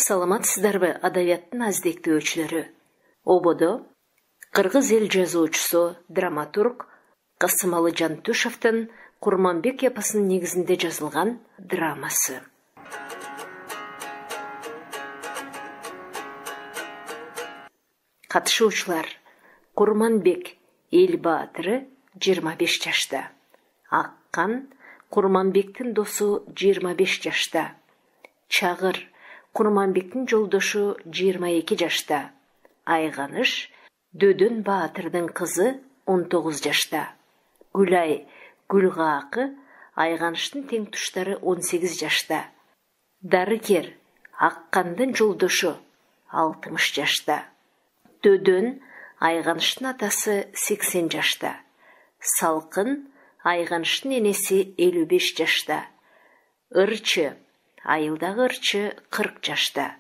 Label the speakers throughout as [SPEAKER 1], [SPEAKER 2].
[SPEAKER 1] Саламатсыздарбы, адабияттын аздектөөчүлөрү. Ободо кыргыз эл жазуучусу, драматург Касымалы Жантушевдин Курманбек эпосунун негизинде жазылган драмасы. Катышуучулар: Курманбек эл баатыры 25 жашта. Аккан Курманбектин досу 25 жашта. Чагыр Курманбектин жолдошу 22 жашта. Айганыш Дөдөн баатырдын кызы 19 жашта. Гүлай Гүлгаакы Айганыштын тең туштары 18 жашта. Дарыгер Аккандын жолдошу 60 жашта. Дөдөн Айганыштын атасы 80 жашта. Салкын Айганыштын энеси 55 жашта. Ырчы Айылдагы ырчы 40 жашта.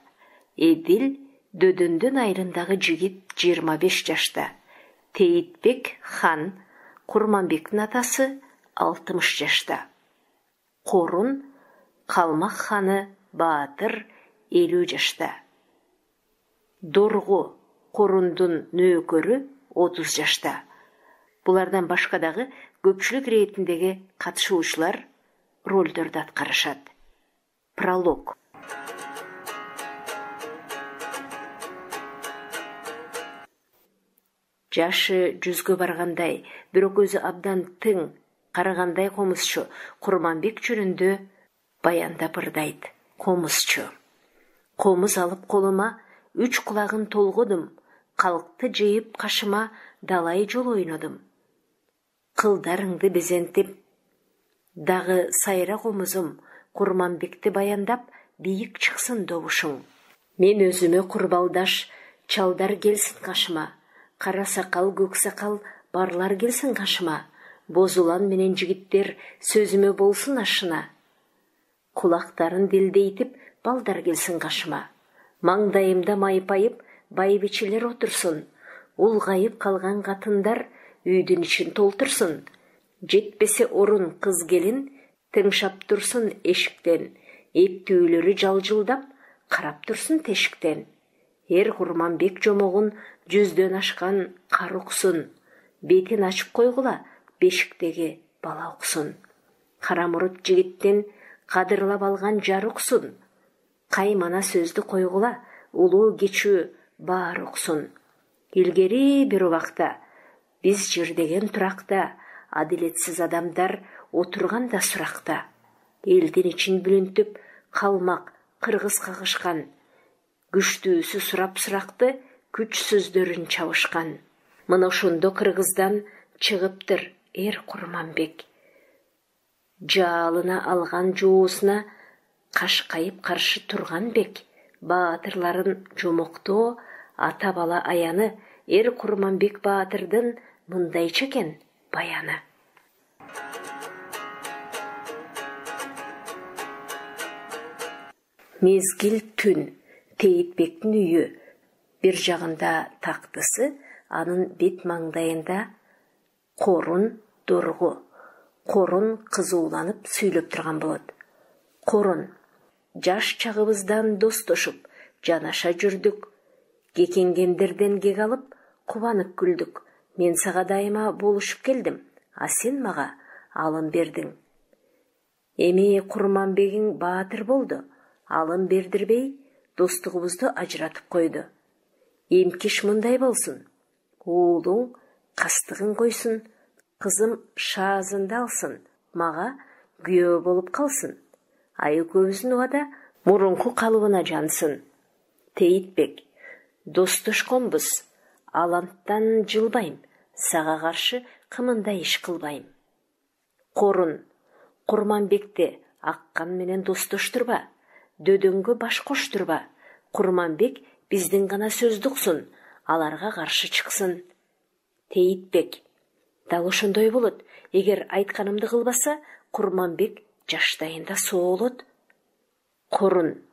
[SPEAKER 1] Эдил Дөдөндүн айрындагы жигит 25 жашта. Теитбек хан Курманбектин атасы 60 жашта. Корун Калмак ханы баатыр 50 жашта. Дорго Корундун нөөкөрү 30 жашта. Булардан башка дагы көпчүлүк иретиндеги катышуучулар ролдорду аткарышат. Пролог. Жашы 100гө баргандай, бирок өзү абдан тың, карагандай комузчу Курманбек жөнүндө баяндап ырдайт. Комузчу: комуз алып колума 3 кулагын толгодум, калкты жыйып кашыма далай жол ойнодум. Кылдарыңды безентип, дагы сайра комузум, Курманбекти баяндап, бийик чыксын добушуң. Мен өзүмө курбалдаш, чалдар келсин кашыма, кара сакал, көк сакал барлар келсин кашыма, бозулан менен жигиттер сөзүмө болсун ашына. Кулактарын делдейтип, балдар келсин кашыма, маңдайымда майпайып, байбичелер отурсун, улгайып калган катындар үйдүн ичин толтурсун. Жетпесе орун кыз келин, тыңшап турсун эшиктен, эптүүлөрү жалжылдап, карап турсун тешиктен. Эр Курманбек жомогун 100дөн ашкан кар уксун, бетин ачып койгула, бешиктеги бала уксун. Кара мурут жигиттен кадырлап алган жар уксун, каймана сөздү койгула, улуу кечүү баар уксун. Илгери бир убакта биз жирдеген туракта, адилетсиз адамдар отурганда суракта. Элдин ичин бүлүнтүп, калмак, кыргыз кагышкан. Күчтүүсү сурап суракты, күч сөздөрүн чабышкан. Мына ошондо кыргыздан чыгыптыр эр Курманбек. Жаалына алган жоосуна кашкайып каршы турган бек. Баатырларын жомоктоо, ата бала аяны эр Курманбек баатырдын мындайча экен баяны. Мезгил түн. Теитбектин үйү. Бир жагында тактысы, анын бет маңдайында Корун, Дорго. Корун кызууланып сүйлөп турган болот. Корун: жаш чагыбыздан достошуп, жанаша жүрдүк. Кекенгендерден кек алып, кубанып күлдүк. Мен сага дайыма болушуп келдим, а сен мага алым бердиң. Эми Курманбегиң баатыр болду, алым бердирбей, достугубузду ажыратып койду. Эмкиш мындай болсун: уулуң кастыгын койсун, кызым шаазынды алсын, мага күйөө болуп калсын. Ай экөөбүздүн убада мурунку калыбына жансын. Теитбек: достошконбуз, аланттан жылбайм, сага каршы кымындай иш кылбайм. Корун: Курманбекти Аккан менен достоштурба, Дөдөнгө баш коштурба. Курманбек биздин гана сөздү уксун, аларга каршы чыксын. Теитбек: дал ошондой болот. Эгер айтканымды кылбаса, Курманбек жаштайында соолот. Корун: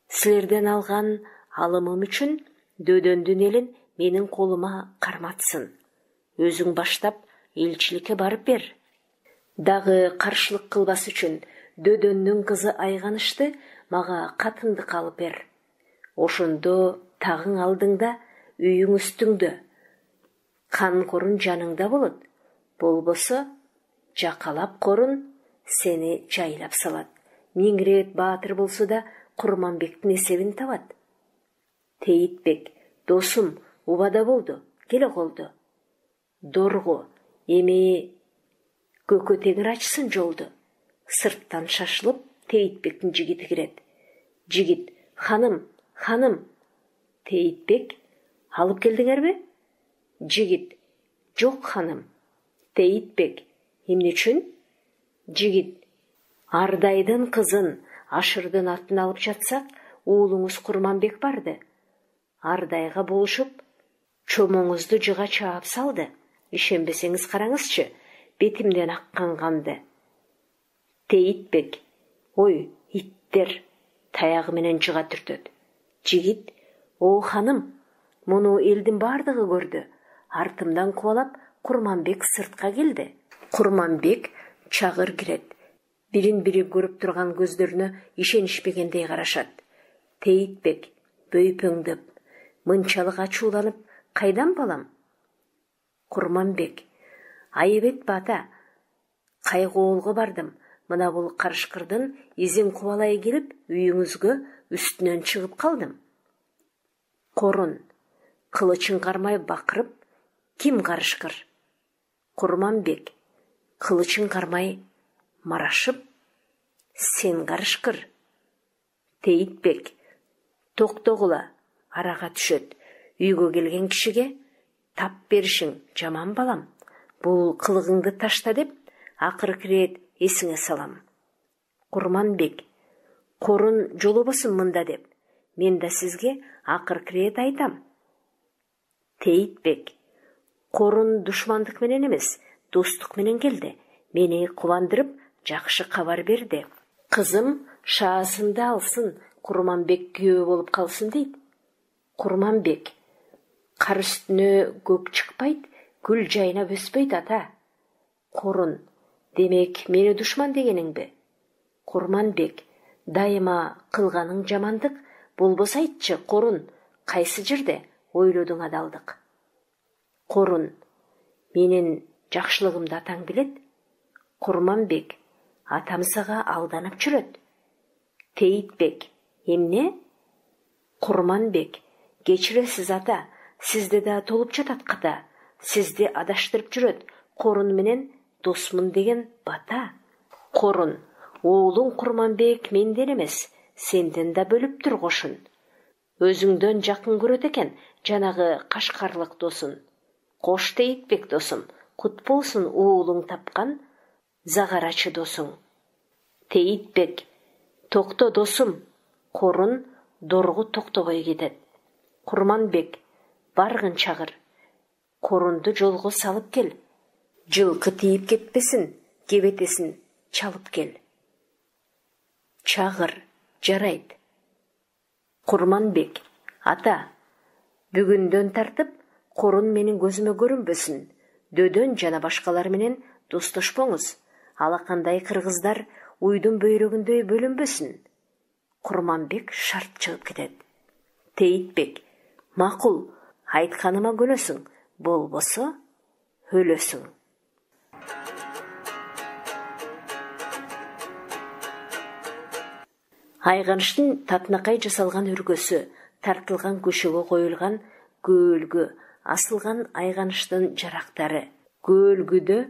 [SPEAKER 1] силерден алган алымым үчүн Дөдөндүн элин менин колума карматсын. Өзүң баштап элчиликке барып бер. Дагы каршылык кылбас үчүн Дөдөндүн кызы Айганышты мага катындык алып бер. Ошондо тагың алдыңда, үйүң үстүңдө, кан корун жаныңда болот. Болбосо жакалап корун сени жайлап салат. 1000 рет баатыр болсо да Курманбектин эсебин табат. Тейитбек: досум, убада болду, келе колду. Дорго: эми көкө теңир ачсын жолду. Сырттан шашылып Тейитбектин жигити кирет. Жигит: ханым, ханым. Тейитбек: алып келдиңерби? Жигит: жок ханым. Тейитбек: эмне үчүн? Жигит: Ардайдын кызын, Ашырдын атын алып жатсак, уулуңуз Курманбек барды. Ардайга болушуп, чомоңузду жыга чаап салды. Ишенбесеңиз караңызчы, бетимден аккан канды. Тейитбек: ой, иттер, таягы менен жыга түртөт. Жигит: о ханым, муну элдин бардыгы көрдү. Артымдан кубалап Курманбек сыртка келди. Курманбек чагыр кирет. Бирин-бири көрүп турган көздөрүнө ишенишпегендей карашат. Тейитбек бөйпөңдөп, мынчалык ачууланып, кайдан балам? Курманбек: айып этпе ата, кайгоолго бардым. Мына бул карышкырдын изин кубалай келип, үйүңүзгө үстүнөн чыгып калдым. Корун кылычын кармай бакырып: ким карышкыр? Курманбек кылычын кармай марашып: сен карышкыр. Тейитбек: токтогула, арага түшөт. Үйгө келген кишиге тап беришиң жаман балам. Бул кылыгыңды ташта деп акыркы рет эсиңе салам. Курманбек: корун жолобосун мында деп, мен да сизге акыркы рет айтам. Тейитбек: корун душмандык менен эмес, достук менен келди. Мени кубандырып, жакшы кабар берди. Кызым шаасынды алсын, Курманбек күйөө болуп калсын дейт. Курманбек: кар үстүнө көк чыкпайт, гүл жайнап өспөйт ата. Корун: демек мени душман дегениңби? Курманбек: дайыма кылганың жамандык, болбосо айтчы, Корун, кайсы жерде ойлодуң адалдык? Корун: менин жакшылыгымды атаң билет. Курманбек: атам сага алданып жүрөт. Тейитбек: эмне? Курманбек: кечиресиз ата, сизде да толуп жатат ката. Сизди адаштырып жүрөт, Корун менен досмун деген бата. Корун: уулуң Курманбек менден эмес, сенден да бөлүптүр кошун. Өзүңдөн жакын көрөт экен жанагы кашкарлык досун. Кош Тейитбек досум, кут болсун уулуң тапкан загарачы досуң. Тейитбек: токто досум. Корун доргу токтобой кетет. Курманбек: баргын чагыр. Корунду жолго салып кел. Жылкы тийип кетпесин, кебетесин чалып кел. Чагыр: жарайт. Курманбек: ата, бүгүндөн тартып Корун менин көзүмө көрүнбөсүн. Дөдөн жана башкалар менен достошпоңуз. Алакандай кыргыздар уйдун бөйрөгүндөй бөлүнбөсүн. Курманбек шарт чыгып кетет. Тейитбек: макул, айтканыма көнөсүң, болбосо өлөсүң. Айганыштын татынакай жасалган өргөсү, тартылган көшөгө коюлган көөлгү, асылган айганыштын жарактары. Көөлгүдө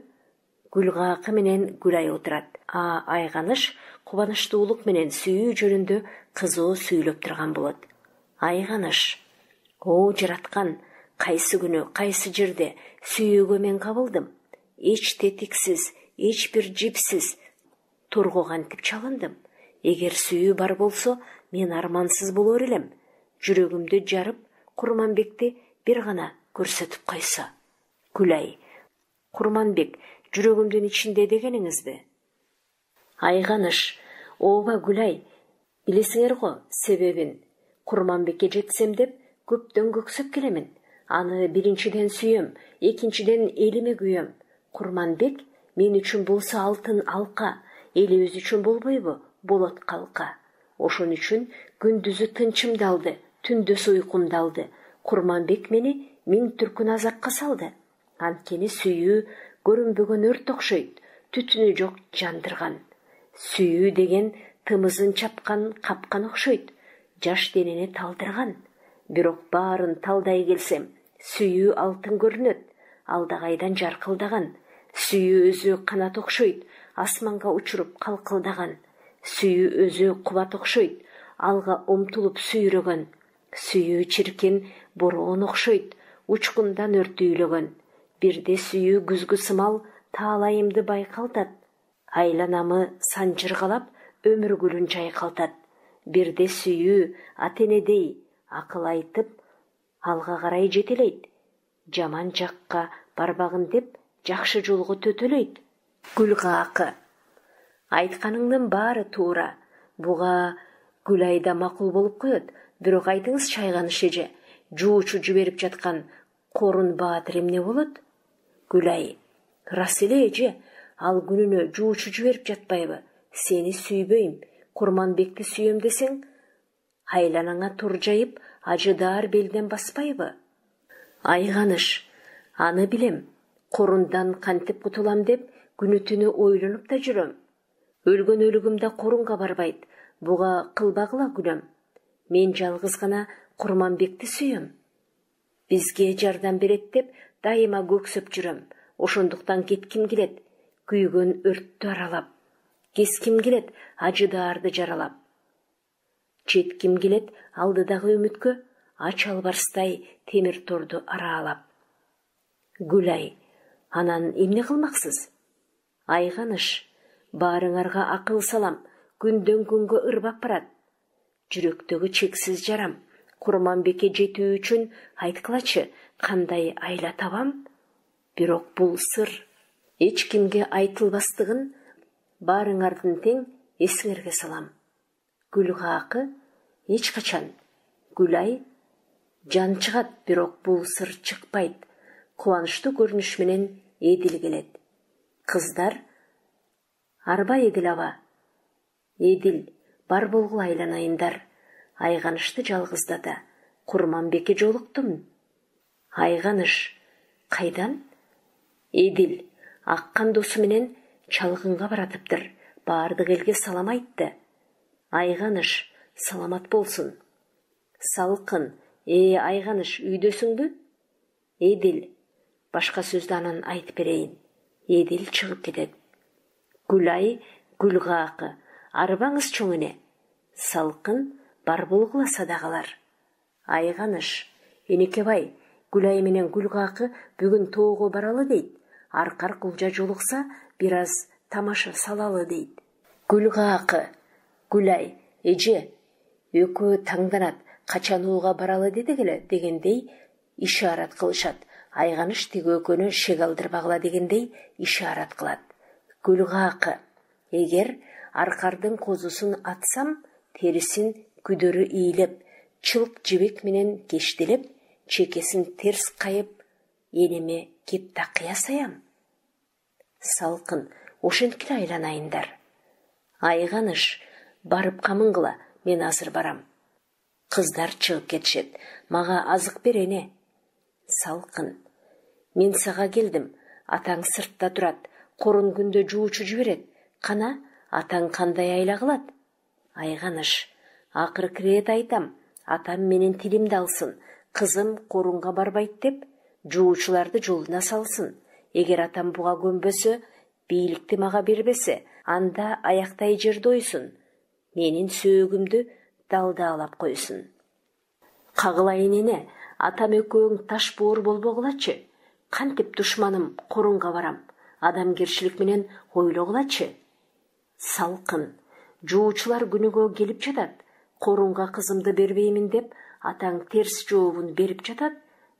[SPEAKER 1] Гүлгакы менен Гүлай отурат. Айганыш кубанычтуулук менен сүйүү жөнүндө кызуу сүйлөп турган болот. Айганыш: о жараткан, кайсы күнү, кайсы жерде сүйүүгө мен кабылдым. Эч тетиксиз, эч бир жипсиз торго кантип чалындым. Эгер сүйүү бар болсо, мен армансыз болор элем. Жүрөгүмдү жарып, Курманбекти бир гана көрсөтүп койсо. Гүлай: Курманбек жүрөгүмдүн ичинде дегениңизби? Айганыш: ооба Гүлай, билесиңер го себебин. Курманбекке жетсем деп көптөн көксөп келемин. Аны биринчиден сүйөм, экинчиден элиме күйөм. Курманбек мен үчүн болсо алтын алка, элибиз үчүн болбойбу? Болот калка. Ошон үчүн күндүзү тынчымды алды, түндөс уйкумду алды. Курманбек мени миң түркүн азапка салды. Анткени сүйүү көрүнбөгөн өрт окшойт, түтүнү жок жандырган. Сүйүү деген тымызын чапкан капкан окшойт, жаш денени талдырган. Бирок баарын талдай келсем, сүйүү алтын көрүнөт, алдагайдан жаркылдаган. Сүйүү өзү канат окшойт, асманга учуруп калкылдаган. Сүйүү өзү кубат окшойт, алга умтулуп сүйрөгөн. Сүйүү чиркин бороон окшойт, учкундан өртүйлөгөн. Бирде сүйүү күзгү сымал таалайымды байкалтат. Айланамы санжыргалап, өмүр гүлүн жайкалтат. Бирде сүйүү атенедей акыл айтып, алга карай жетелейт. Жаман жакка барбагын деп, жакшы жолго төтөлөйт. Гүлгакы. Айтканыңдын баары туура. Буга Гүлайда макул болуп коет. Бирок айтыңыз, чайганыш эже, жуучу жиберип жаткан Корун баатыр эмне болот? Гүлай. Рас эле эже, ал күнүнө жуучу жиберип жатпайбы? Сени сүйбөйм, Курманбекти сүйөм десең, айланаңа тур жайып, ажыдаар белден баспайбы? Айганыш. Аны билем. Корундан кантип кутулам деп күнү түнү ойлонуп да жүрөм. Өлгөн өлүгүмдө Корунга барбайт. Буга кылбагыла күнөм. Мен жалгыз гана Курманбекти сүйөм. Бизге жардам берет деп дайыма көксөп жүрөм. Ошондуктан кетким келет, күйгөн өрттү аралап. Кеским келет, ажыдаарды жаралап. Жетким келет алдыдагы үмүткө, ач албарстай темир торду араалап. Гүлай. Анан эмне кылмаксыз? Айганыш. Баарыңарга акыл салам, күндөн күнгө ырбап барат. Жүрөктөгү чексиз жарам. Курманбекке жетүү үчүн айткылачы, кандай айла табам? Бирок бул сыр эч кимге айтылбастыгын баарыңардын тең эсиңерге салам. Гүлгакы. Эч качан. Гүлай. Жан чыгат, бирок бул сыр чыкпайт. Кубанычтуу көрүнүш менен Эдил келет. Кыздар. Арба Эдил аба. Эдил, бар болгула айланайындар. Айганышты жалгыздата. Курманбекке жолуктум. Айганыш. Кайдан? Эдил, аккан досу менен чалгынга баратыптыр. Баардык элге салам айтты. Айганыш. Саламат болсун. Салкын. Айганыш, үйдөсүңбү? Эдил. Башка сөздү анан айтып берейин. Эдил чыгып кетет. Гүлай. Гүлгакы. Арбаңыз чоң эне. Салкын. Бар болгула садагалар. Айганыш. Энекебай, Гүлай менен Гүлгакы бүгүн тоого баралы дейт. Аркар кулжа жолукса, бир аз тамаша салалы дейт. Гүлгакы. Гүлай. Эже, экөө таңданат, качан ууга баралы дедигиле дегендей ишарат кылышат. Айганыш тиги экөөнү шек алдырбагыла дегендей ишарат кылат. Гүлгакы. Эгер аркардын козусун атсам, терисин күдөрү ийилеп, чылк жибек менен кештелеп, чекесин терс кайып, энеме кеп такыя саям. Салкын. Ошенткиле айланайындар. Айганыш. Барып камынгыла, мен азыр барам. Кыздар чыгып кетишет. Мага азык бер эне. Салкын. Мен сага келдим. Атаң сыртта турат. Корун күндө жуучу жиберет. Кана, атаң кандай айла кылат? Айганыш. Акыркы рет айтам. Атам менин тилимди алсын. Кызым Корунга барбайт деп, жуучуларды жолуна салсын. Эгер атам буга көнбөсө, бийликти мага бербесе, анда аяктай жерде ойсун. Менин сөөгүмдү далдаалап койсун. Кагылайын эне, атам экөөң таш боор болбогулачы. Кантип душманым Корунга барам. Адамгерчилик менен ойлогулачы. Салкын. Жуучулар күнүгө келип жатат. Корунга кызымды бербеймин деп, атаң терс жообун берип жатат.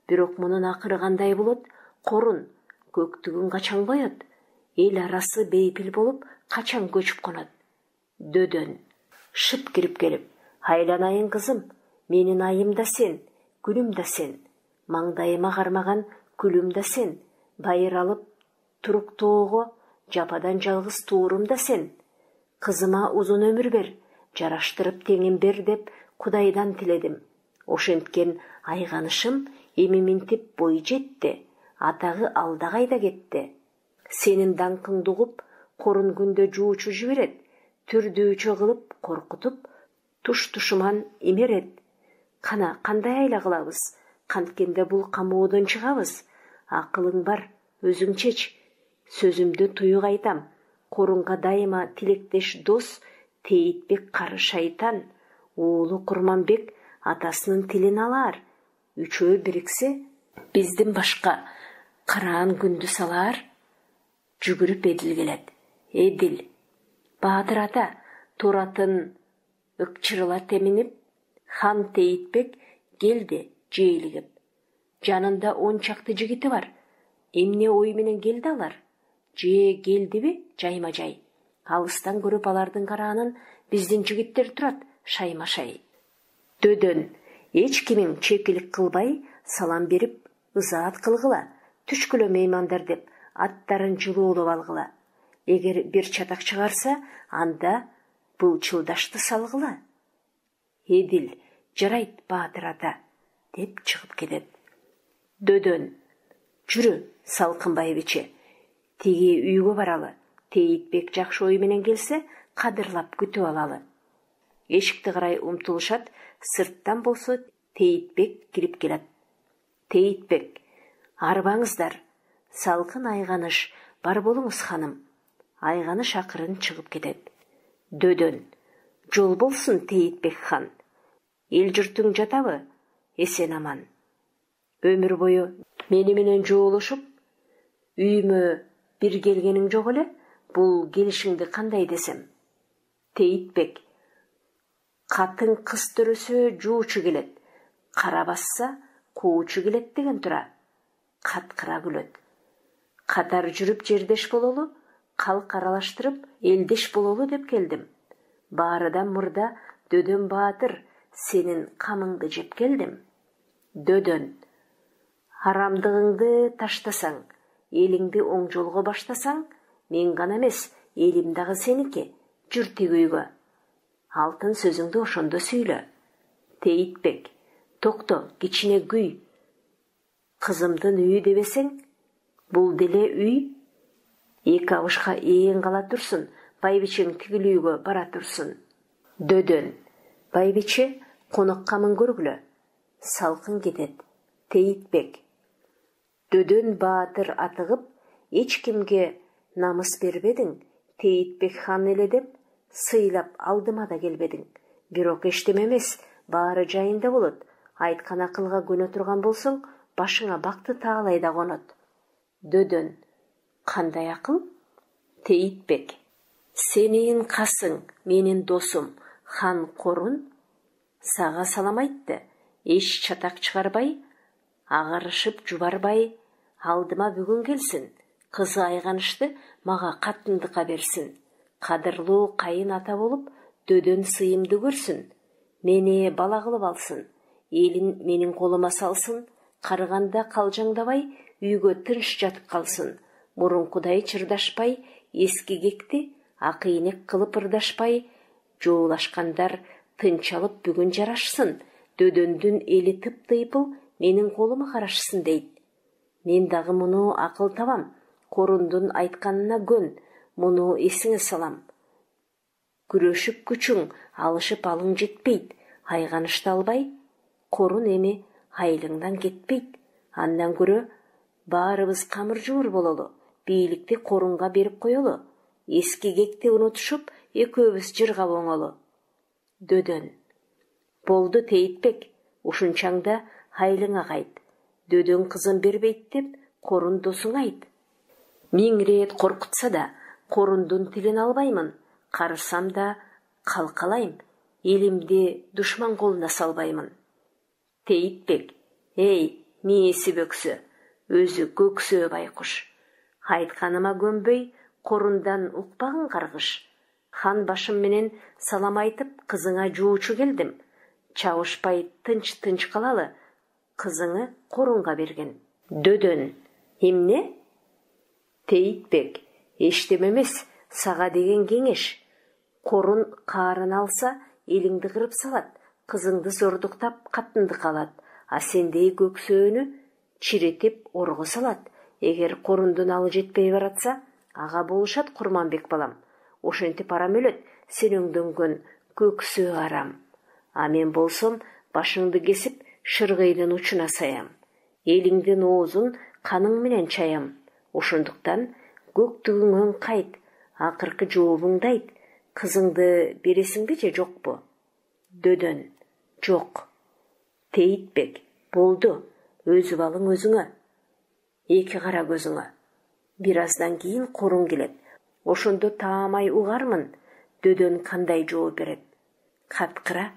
[SPEAKER 1] Бирок мунун акыры кандай болот? Корун көктүгүн качан коет? Эл арасы бейпил болуп, качан көчүп конот? Дөдөн. Шып кирип келип, айланайын кызым, менин айым да сен, күнүм да сен. Маңдайыма кармаган күлүм да сен. Байыр алып турук тоого, жападан жалгыз туурум да сен. Кызыма узун өмүр бер, жараштырып теңин бер деп Кудайдан тиледим. Ошенткен айганышым эми минтип бой жетти, атагы алда кайда кетти. Сенин даңкыңды угуп, корун күндө жуучу жиберет, түрдүүчү кылып коркутуп, туш-тушуман имерет. Кана кандай айла кылабыз? Канткенде бул камоодон чыгабыз. Акылың бар, өзүң чеч. Сөзүмдү туюк айтам. Корунга дайыма тилектеш дос Тейитбек кары шайтан. Уулу Курманбек атасынын тилин алар. Үчөө бириксе, биздин башка караан күндү салар. Жүгүрүп Эдил келет. Эдил, Баатыр ата, туратын ыкчырыла теминип, хан Тейитбек келди жээлигип. Жанында 10 чакты жигити бар. Эмне ой менен келди алар? Же келдиби жайма-жай? Алыстан көрүп алардын караанын биздин жигиттер турат, шайма-шай. Дөдөн, эч кимиң чекилик кылбай, салам берип, ызаат кылгыла. Түшкүлө меймандар деп, аттарын жылуулап алгыла. Эгер бир чатак чыгарса, анда былчылдашты салгыла. Эдил, жарайт Баатыр ата, деп чыгып кетет. Дөдөн, жүрү Салкынбай биче. Тиги үйгө баралы. Тейитбек жакшы ой менен келсе, кадырлап күтүп алалы. Эшикти карай умтулушат, сырттан болсо Тейитбек кирип келет. Тейитбек, арбаңыздар. Салкын айганыш, бар болуңуз ханым. Айганыш акырын чыгып кетет. Дөдөн, жол болсун Тейитбек хан. Эл журтуң жатабы? Эсен аман. Өмүр бою мени менен жоолошуп, үйүмө бир келгениң жок эле, бул келишиңди кандай десем? Тейитбек, катын кыз төрөсө жуучу келет, кара басса куучу келет деген тура. Каткыра күлөт. Катар жүрүп жердеш бололу, калк аралаштырып элдеш бололу деп келдим. Баарыдан мурда Дөдөн Баатыр, сенин камыңды жеп келдим. Дөдөн, арамдыгыңды таштасаң, элиңди оң жолго баштасаң, мен гана эмес, элим дагы сеники. Жүр тиги үйгө. Алтын сөзүңдү ошондо сүйлө. Тейитбек, токто, кичине күй. Кызымдын үйү дебесең, бул деле үй. Эки абышка ээн кала турсун, байбичең тигил үйгө бара турсун. Дөдөн, байбиче, конокко мын көргүлө. Салкын кетет. Тейитбек, Дөдөн Баатыр атыгып, эч кимге намыс бербедиң, Тейитбек хан эле деп, сыйлап алдыма да келбедиң. Бирок эчтеме эмес, баары жайында болот. Айткан акылга көнө турган болсоң, башыңа бакты таалай да конот. Дөдөн, кандай акыл? Тейитбек, сенин касың, менин досум, хан Корун, сага салам айтты. Эч чатак чыгарбай, агарышып жубарбай, алдыма бүгүн келсин. Кызы айганышты мага катындыкка берсин. Кадырлуу кайын ата болуп, Дөдөн сыйымды көрсүн. Мени бала кылып алсын. Элин менин колума салсын. Карыганда калжаңдабай, үйгө тынч жатып калсын. Мурункудай чырдашпай, эски кекти акыйнек кылып ырдашпай, жоолашкандар тынчалып бүгүн жарашсын. Дөдөндүн эли тыптыйпыл менин колума карашсын дейт. Мен дагы муну акыл табам. Корундун айтканына көн, муну эсиңе салам. Күрөшүп күчүң, алышып алың жетпейт. Айганышты албай, Корун эми айлыңдан кетпейт. Андан көрө баарыбыз камыр жуур бололу. Бийликти Корунга берип коелу. Эски кекти унутушуп, экөөбүз жыргап оңолу. Дөдөн, болду Тейитбек, ушунчаңда айлыңа кайт. Дөдөн кызын бербейт деп, Корун досуңа айт. 1000 рет коркутса да, Корундун тилин албаймын. Карысам да калкалайм. Элимди душман колуна салбаймын. Тейитбек, эй, мээси бөксө, өзү көксөө байкуш. Айтканыма көнбөй, Корундан укпагын каргыш. Хан башым менен салам айтып, кызыңа жуучу келдим. Чабышпай тынч калалы, кызыңы Корунга берген. Дөдөн, эмне? Тейитбек, эчтеме эмес, сага деген кеңеш. Корун каарын алса, элиңди кырып салат. кызыңды зордуктап катындык алат, а сендей көксөөнү чиретип орго салат. Эгер корундун алы жетпей баратса, ага болушат Курманбек балам. Ошентип арам өлөт сен өңдөнгөн көксөө арам. А мен болсом башыңды кесип шыргыйдын учуна саям. Элиңдин оозун каның менен чаям. Ошондуктан көктүгүңөн кайт, акыркы жообуңду айт. Кызыңды бересиңби же жокпу? Дөдөн: жок. Тейитбек: болду, өзүп алың өзүңө. Эки кара көзүңө. Бир аздан кийин Корун келет. Ошондо таамай угармын, Дөдөн кандай жооп берет. Каткыра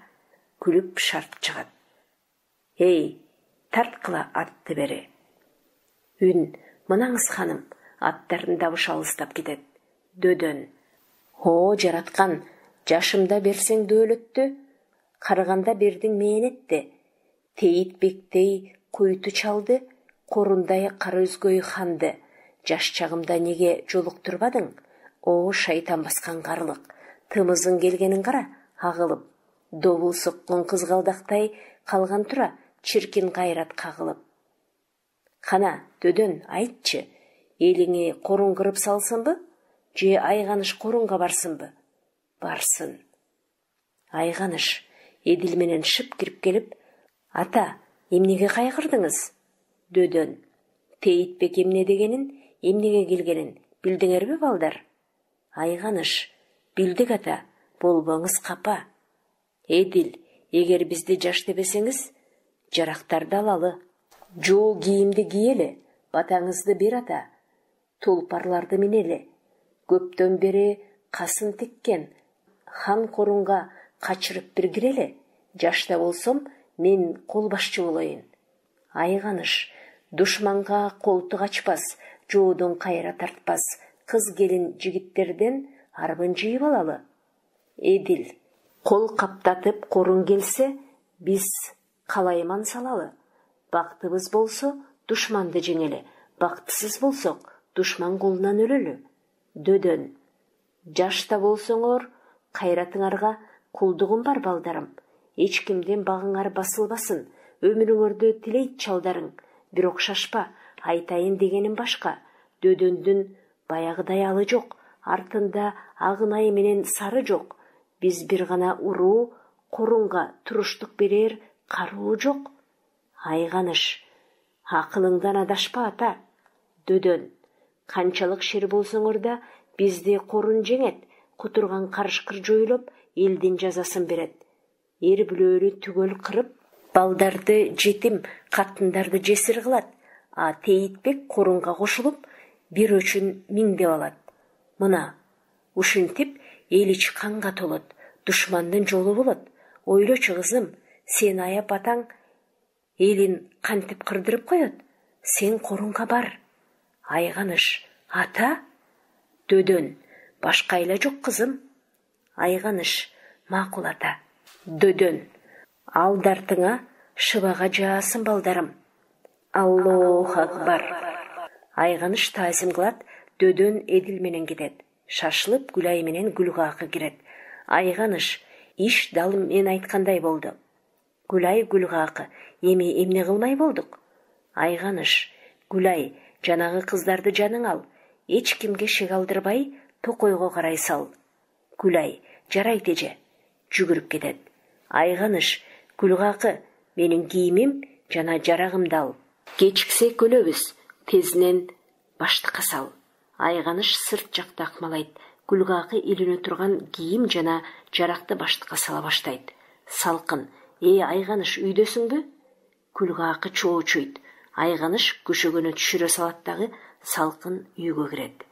[SPEAKER 1] күлүп шарт чыгат. Эй, тарткыла атты бери. Үн: мынаңыз ханым. Аттардын табышы алыстап кетет. Дөдөн: о жараткан, жашымда берсең дөөлөттү, карыганда бердиң мээнетти. Тейитбектей куйту чалды, Корундай кара өзгөй ханды. Жаш чагымда неге жолуктурбадың? О шайтан баскан карлык, тымызың келгенин кара, агылып. Добул соккон кызгалдактай калган тура, чиркин кайрат кагылып. Кана, Дөдөн, айтчы, элиңи Корун кырып салсынбы, же Айганыш Корунга барсынбы? Барсын. Айганыш Эдил менен шып кирип келип: ата, эмнеге кайгырдыңыз? Дөдөн: Тейитбек эмне дегенин, эмнеге келгенин билдиңерби балдар? Айганыш: билдик ата, болбоңуз капа. Эдил: эгер бизди жаш дебесеңиз, жарактарды алалы. Жоо кийимди кийели, батаңызды бер ата. Тулпарларды минели. Көптөн бери касын тиккен хан Корунга качырып бир кирели. Жашта болсом, мен кол башчы болоюн. Айганыш: душманга колтук ачпас, жоодон кайра тартпас кыз келин жигиттерден арбын жыйып алалы. Эдил: кол каптатып Корун келсе, биз калайман салалы. Бактыбыз болсо, душманды жеңели, бактысыз болсок, душман колунан өлөлү. Дөдөн: жашта болсоңор, кайратыңарга кулдугум бар балдарым. Эч кимден багыңар басылбасын, өмүрүңөрдө тилейт чалдарың, бирок шашпа, айтайын дегеним башка. Дөдөндүн баягыдай алы жок, артында агынай менен сары жок. Биз бир гана уруу, Корунга туруштук берер каруу жок. Айганыш: акылыңдан адашпа ата. Дөдөн: канчалык шер болсоңор да, бизди Корун жеңет, кутурган карышкыр жойлоп, элдин жазасын берет. Эр бүлөлү түгөл кырып, балдарды жетим, катындарды жесир кылат. А Тейитбек Корунга кошулуп, бир өчүн миңдеп алат. Мына, ушинтип эл ич канга толот, душмандын жолу болот. Ойлочу кызым, сен аяп атаң элин кантип кырдырып коет? Сен Корунга бар. Айганыш: ата? Дөдөн: башка айла жок кызым. Айганыш: макул ата. Дөдөн: ал дартыңа шыбага жаасын балдарым. Аллоху акбар. Айганыш таазим кылат. Дөдөн Эдил менен кетет. Шашылып Гүлай менен Гүлгакы кирет. Айганыш: иш дал мен айткандай болду. Гүлай Гүлгакы: эми эмне кылмай болдук? Айганыш: Гүлай, жанагы кыздарды жаның ал, эч кимге шек алдырбай токойго карай сал. Гүлай: жарайт эже. Жүгүрүп кетет. Айганыш: Гүлгакы, менин кийимим жана жарагымды ал. Кечиксек өлөбүз, тезинен баштыкка сал. Айганыш сырт жакта акмалайт. Гүлгакы илине турган кийим жана жаракты баштыкка сала баштайт. Салкын: Айганыш, үйдөсүңбү? Гүлгакы чоочуйт. Айганыш көшөгөнө түшүрө салат дагы салкын үйгө кирет.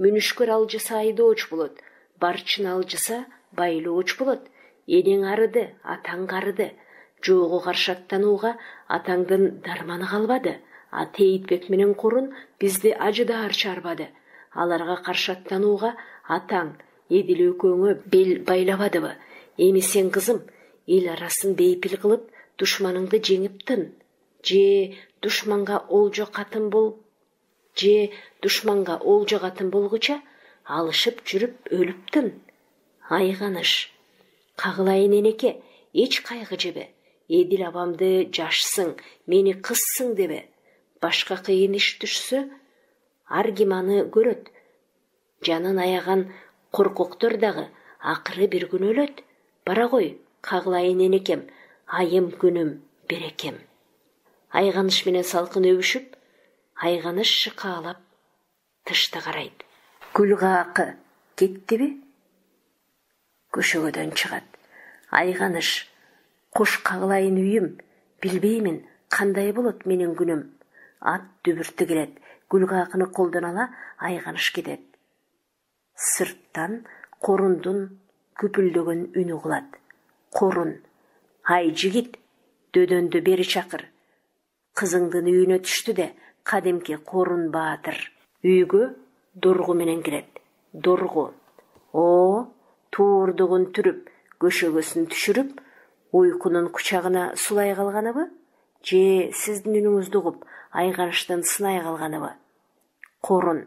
[SPEAKER 1] Мүнүшкөр алжыса айдооч болот, барчын алжыса байлооч болот. Энең арыды, атаң карыды. Жоого каршы аттанууга атаңдын дарманы калбады. А Тейитбек менен Корун бизди ажыдаар чарбады. Аларга каршы аттанууга атаң Эдил экөөңө бел байлабадыбы? Эми сен кызым, эл арасын бейпил кылып, душманыңды жеңип тын. Же душманга олжо катын болгуча алышып жүрүп өлүп тын. Айганыш: кагылайын энеке, эч кайгы жебе. Эдил абамды жашсың, мени кызсың дебе. Башка кыйын иш түшсө, ар ким аны көрөт. Жанын аяган коркоктор дагы акыры бир күн өлөт. Бара кой, кагылайын энекем, айым күнүм берекем. Айганыш менен салкын өбүшүп, айганыш шыкаалап тышты карайт. Гүлгаакы кеттиби? Көшөгөдөн чыгат. Айганыш, куш кагылайын үйүм, билбеймин кандай болот менин күнүм. Ат дүбүртү келет, Гүлгаакыны колдон ала айганыш кетет. Сырттан корундун күпүлдөгөн үнү угулат. Корун, ай жигит, дөдөндү бери чакыр. Кызыңдын үйүнө түштү де, кадимки Корун баатыр. Үйгө доргу менен кирет. Доргу, туурдугун түрүп, көшөгөсүн түшүрүп, уйкунун кучагына сулай калганыбы? Же сиздин үнүңүздү угуп, айганыштан сынай калганыбы? Корун,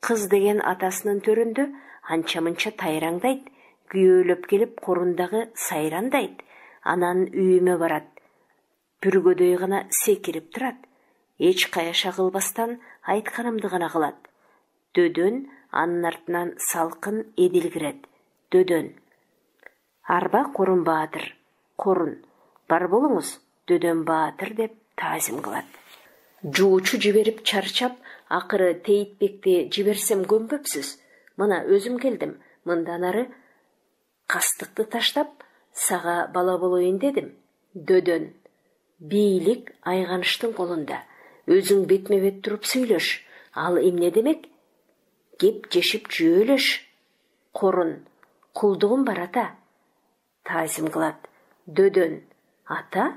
[SPEAKER 1] кыз деген атасынын төрүндө анча-мынча тайраңдайт, күйөөлөп келип корундагы сайрандайт, анан үйүмө барат. Бүргөдөй гана секирип турат. Эч каяша кылбастан айтканымды гана кылат. Дөдөн анын артынан салкын Эдил кирет. Дөдөн, арба Корун баатыр. Корун, бар болуңуз, Дөдөн баатыр деп таазим кылат. Жуучу жиберип чарчап, акыры Тейтбекти жиберсем көнбөпсүз. Мына өзүм келдим. Мындан ары кастыкты таштап, сага бала болоюн дедим. Дөдөн, бийлик айганыштын колунда. Өзүң бетме-бет туруп сүйлөш. Ал эмне демек? Кеп жешип жөөлөш. Корун, кулдугум бар ата. Таазим кылат. Дөдөн, ата?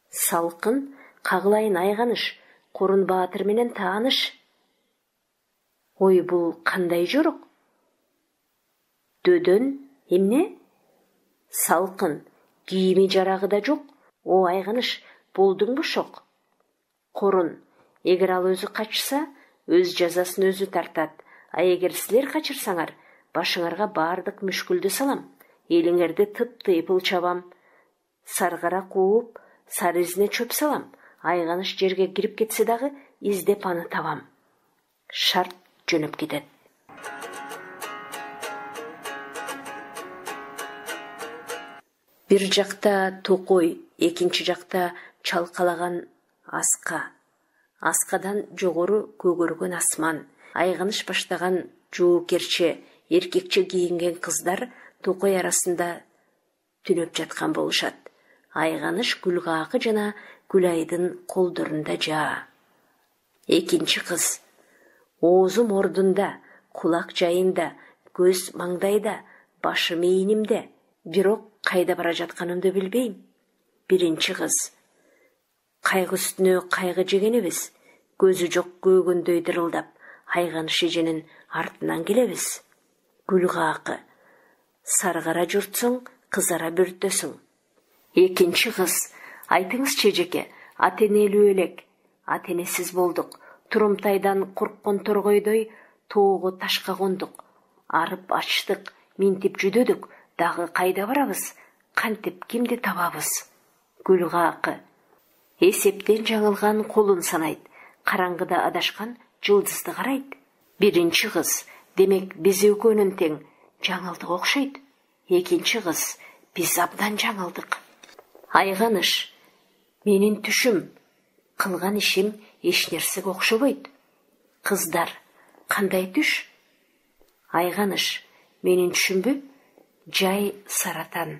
[SPEAKER 1] Салкын, кагылайын айганыш, Корун баатыр менен тааныш. Ой, бул кандай жорок? Дөдөн, эмне? Салкын, кийими жарагы да жок. О айганыш, болдуңбу шок? Корун, эгер ал өзү качса, өз жазасын өзү тартат. А эгер силер качырсаңар, башыңарга бардык мүшкүлдү салам. Элиңерди тып-тыйпыл чабам. Саргара кууп, сары изине чөп салам. Айганыш жерге кирип кетсе дагы издеп аны табам. Шарт жөнөп кетет. Бир жакта токой, экинчи жакта чалкалаган аска. Аскадан жогору көгөргөн асман. Айганыш баштаган жоокерче, эркекче кийинген кыздар токой арасында түнөп жаткан болушат. Айганыш Гүлгаакы жана Гүлайдын колдорунда жаа. Экинчи кыз. Оозум ордунда, кулак жайында, көз маңдайда, башы мейнимде. Бирок кайда бара жатканымды билбейм. Биринчи кыз. Кайгы үстүнө кайгы жегенибиз. Көзү жок көөгөндөй дырылдап, айганыш эженин артынан келебиз. Гүлгаакы. Саргара журтсуң, кызара бүртөсүң. Экинчи кыз. Айтыңызчы эжеке, ата-энелүү элек. Ата-энесиз болдук. Турумтайдан корккон торгойдой тоого ташка кондук. Арып ачтык, минтип жүдөдүк. Дагы кайда барабыз? Кантип кимди табабыз? Гүлгаакы. Эсептен жаңылган колун санайт. Караңгыда адашкан жылдызды карайт. Биринчи кыз. Демек биз экөөнүн тең. Жаңылдык окшойт. Экинчи кыз. Биз абдан жаңылдык. Айганыш. Менин түшүм. Кылган ишим эч нерсеге окшобойт. Кыздар. Кандай түш? Айганыш. Менин түшүмбү? Жай саратан.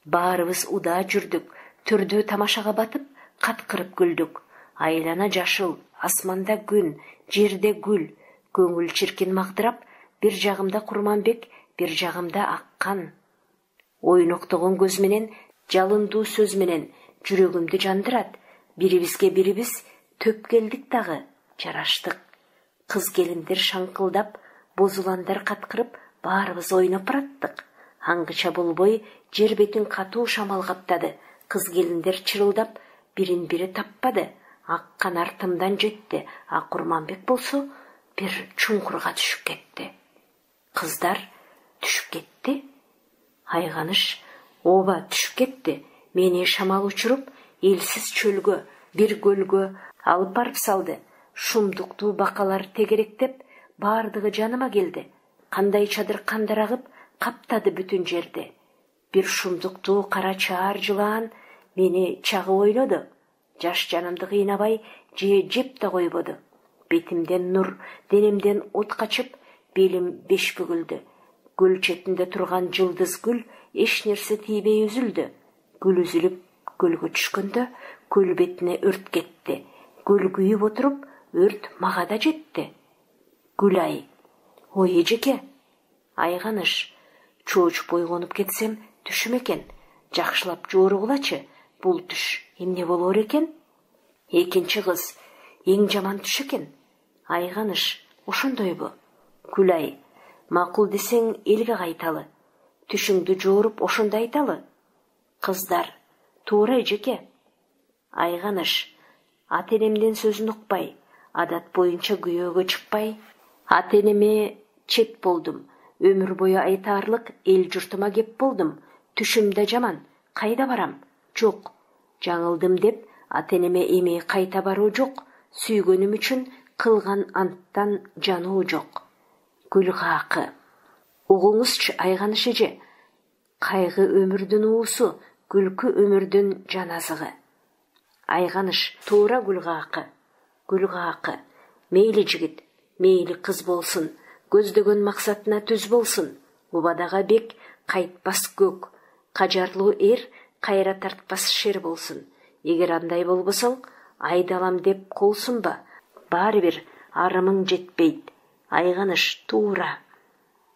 [SPEAKER 1] Баарыбыз удаа жүрдүк. Төрдө тамашага батып, каткырып күлдүк. Айлана жашыл, асманда күн, жерде гүл. Көңүл чиркин магдырап, бир жагымда Курманбек, бир жагымда Аккан. Ойноктогон көз менен, жалындуу сөз менен жүрөгүмдү жандырат. Бирибизге бирибиз төп келдик дагы, жараштык. Кыз келиндер шаңкылдап, бозуландар каткырып, баарыбыз ойноп бараттык. Аңгыча болбой, жер бетин катуу шамал каптады. Кыз келиндер чырылдап, бирин бири таппады. Аккан артымдан жетти, а Курманбек болсо бир чуңкурга түшүп кетти. Кыздар түшүп кетти. Айганыш Оба түшүп кетти. Мени шамал учуруп, элсиз чөлгө, бир көлгө алып барып салды. Шумдуктуу бакалар тегеректеп, бардыгы жаныма келди. Кандай чадыр кандарагып, каптады бүтүн жерди. Бир шумдуктуу кара чаар жылаан мени чагып ойлоду. Жаш жанымды кыйнабай, жеп да койбоду. Бетимден нур, денемден от качып, белим беш бүгүлдү. Көл четинде турган жылдыз гүл эч нерсе тийбей үзүлдү. Гүл үзүлүп көлгө түшкөндө көл бетине өрт кетти. Көл күйүп отуруп, өрт мага да жетти. Гүлай. Ой эжеке. Айганыш. Чоочуп ойгонуп кетсем түшүм экен. Жакшылап жооругулачы. Бул түш эмне болор экен? Экинчи кыз. Эң жаман түш экен. Айганыш. Ошондойбу? Гүлай. Макул десең элге кайталы. Түшүңдү жооруп ошондо айталы. Кыздар. Туура эжеке. Айганыш. Ата-энемдин сөзүн укпай, адат боюнча күйөөгө чыкпай, ата-энеме чет болдум. Өмүр бою айтаарлык эл журтума кеп болдум. Түшүм да жаман. Кайда барам? Жок. Жаңылдым деп ата-энеме эми кайта баруу жок. Сүйгөнүм үчүн кылган анттан жануу жок. Гүлгакы. Угуңузчу Айганыш эже. Кайгы өмүрдүн уусу, күлкү өмүрдүн жаназыгы. Айганыш. Туура Гүлгакы. Гүлгакы. Мейли жигит, мейли кыз болсун, көздөгөн максатына түз болсун. Убадага бек кайтпас көк, кажарлуу эр кайра тартпас шер болсун. Эгер андай болбосоң, айдалам деп кол сунба. Баары бир арымың жетпейт. Айганыш. Туура.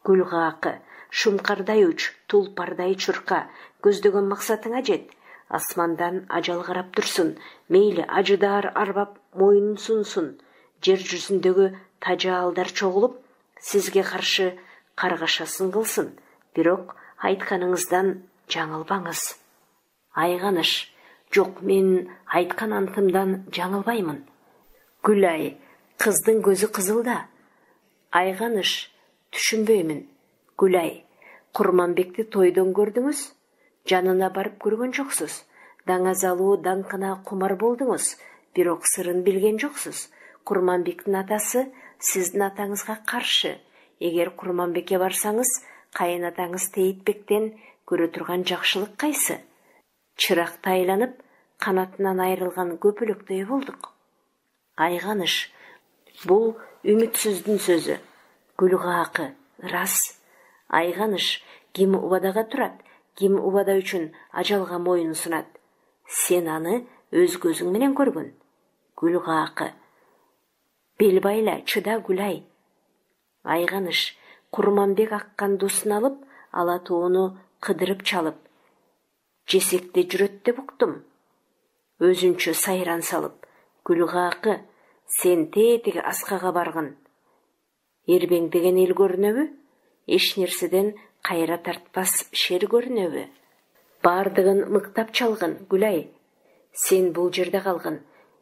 [SPEAKER 1] Гүлгакы. Шумкардай уч, тулпардай чурка, көздөгөн максатыңа жет. Асмандан ажал карап турсун, мейли ажыдар арбап моюнун сунсун. Жер жүзүндөгү тажаалдар чогулуп, сизге каршы каргашасын кылсын. Бирок айтканыңыздан жаңылбаңыз. Айганыш. Жок, мен айткан антымдан жаңылбаймын. Гүлай. Кыздын көзү кызыл да. Айганыш. Түшүнбөймүн. Гүлай. Курманбекти тойдон көрдүңүз? Жанына барып көргөн жоксуз. Даңазалуу даңкына кумар болдуңуз, бирок сырын билген жоксуз. Курманбектин атасы сиздин атаңызга каршы. Эгер Курманбекке барсаңыз, кайынатаңыз Тейтбектен көрө турган жакшылык кайсы? Чыракта айланып, канатынан айрылган көпөлөктөй болдук. Айганыш. Бул үмүтсүздүн сөзү. Гүлгакы. Рас. Айганыш. Ким убадага турат, ким убада үчүн ажалга моюн сунат. Сен аны өз көзүң менен көргүн. Гүлгакы. Бел байла, чыда Гүлай. Айганыш. Курманбек аккан дусун алып, ала тоону кыдырып чалып, жесекте жүрөт деп уктум. Өзүнчө сайран салып. Гүлгакы. Сен тетиги аскага баргын. Эрбең деген эл көрүнөбү? Эч нерседен кайра тартпас шер көрүнөбү? Бардыгын мыктап чалгын, Гүлай. Сен бул жерде калгын.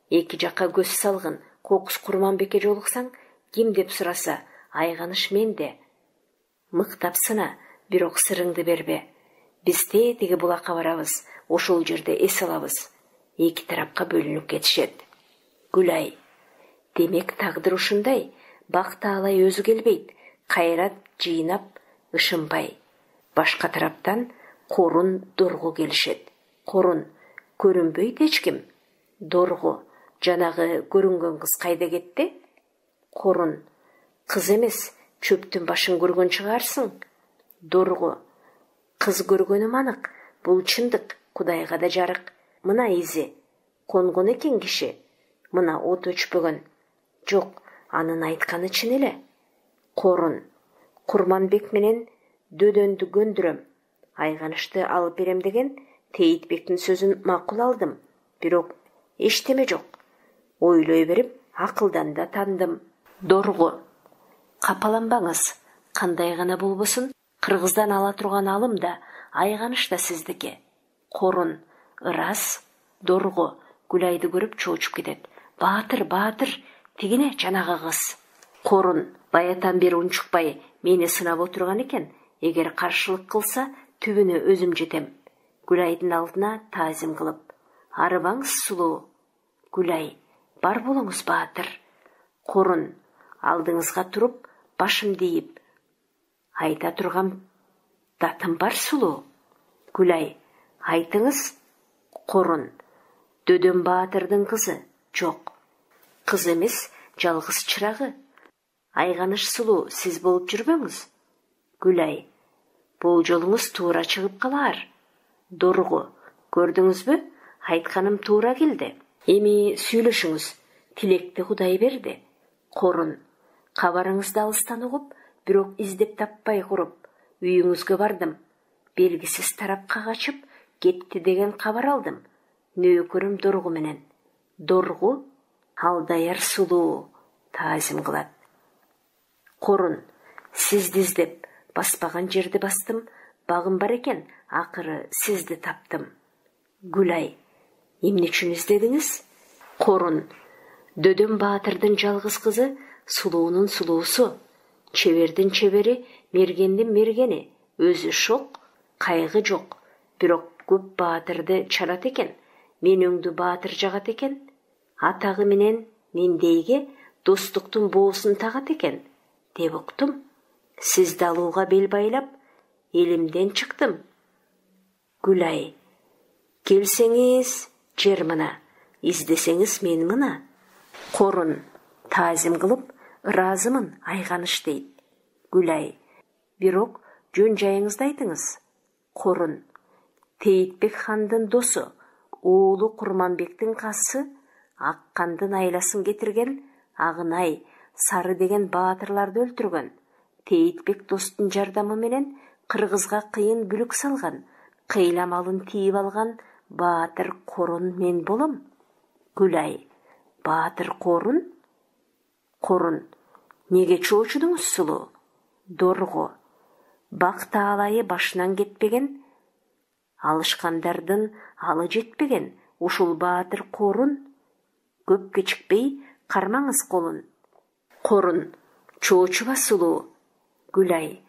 [SPEAKER 1] Эки жакка көз салгын. Кокус Курманбекке жолуксаң, ким деп сураса, Айганыш менде. Мыктап сына, бирок сырыңды бербе. Биз тетиги булакка барабыз, ошол жерде эс алабыз. Эки тарапка бөлүнүп кетишет. Гүлай. Демек тагдыр ушундай. Бак таалай өзү келбейт. Кайрат жыйнап, ышынбай. Башка тараптан Корун, Дорго келишет. Корун. Көрүнбөйт эч ким. Дорго. Жанагы көрүнгөн кыз кайда кетти? Корун. Кыз эмес, чөптүн башын көргөн чыгарсың. Дорго. Кыз көргөнүм анык. Бул чындык, Кудайга да жарык. Мына изи. Конгон экен киши. Мына от өчпөгөн. Жок, анын айтканы чын эле. Корун. Курманбек менен дөдөндү көндүрөм. Айганышты алып берем деген Тейтбектин сөзүн макул алдым. Бирок эчтеме жок. Ойлой берип, акылдан да тандым. Дорго. Капаланбаңыз. Кандай гана болбосун, Кыргыздан ала турган алым да, Айганыш да сиздики. Корун. Ырас. Дорго. Гүлайды көрүп чоочуп кетет. Баатыр, баатыр, тигине жанагы кыз. Корун. Баятан бери унчукпай мени сынап отурган экен. Эгер каршылык кылса, түбүнө өзүм жетем. Гүлайдын алдына таазим кылып: арыбаңыз сулуу. Гүлай: бар болуңуз баатыр. Корун алдыңызга туруп, башымды ийип: айта турган датым бар сулуу. Гүлай: айтыңыз. Корун: Дөдөн баатырдын кызы. Жок, кыз эмес, жалгыз чырагы. Айганыш сулуу сиз болуп жүрбөңүз. Гүлай: бул жолуңуз туура чыгып калаар. Дорго: көрдүңүзбү? Айтканым туура келди. Эми сүйлөшүңүз. Тилекти Кудай берди. Корун: кабарыңызды алыстан угуп, бирок издеп таппай куруп, үйүңүзгө бардым. Белгисиз тарапка качып кетти деген кабар алдым. Нөөкөрүм Дорго менен. Дорго алдаяр сулуу таазим кылат. Корун: сизди издеп баспаган жерди бастым. Багым бар экен, акыры сизди таптым. Гүлай: эмне үчүн издедиңиз? Корун: Дөдөн баатырдын жалгыз кызы, сулуунун сулуусу, чебердин чебери, мергендин мергени. Өзү шок, кайгы жок. Бирок көп баатырды чарат экен. Менөңдү баатыр жагат экен. Атагы менен мендейге достуктун боосун тагат экен, деп уктум. Сизди алууга бел байлап, элимден чыктым. Гүлай: келсеңиз жер мына, издесеңиз мен мына. Корун таазим кылып: ыраазымын, айганыш дейт. Гүлай: бирок жөн жайыңызды айтыңыз. Корун: Тейитбек хандын досу, уулу Курманбектин касы, Аккандын айласын кетирген Агынай, Сары деген баатырларды өлтүргөн. Тейитбек достун жардамы менен кыргызга кыйын бүлүк салган, кыйла малын тийип алган баатыр Корун мен болом. Гүлай: баатыр Корун? Корун: неге чоочудуңуз сулуу? Дорго: бак таалайы башынан кетпеген, алышкандардын алы жетпеген ушул баатыр Корун. Көп кечикпей кармаңыз колун. Корун: чоочуба сулуу. Гүлай: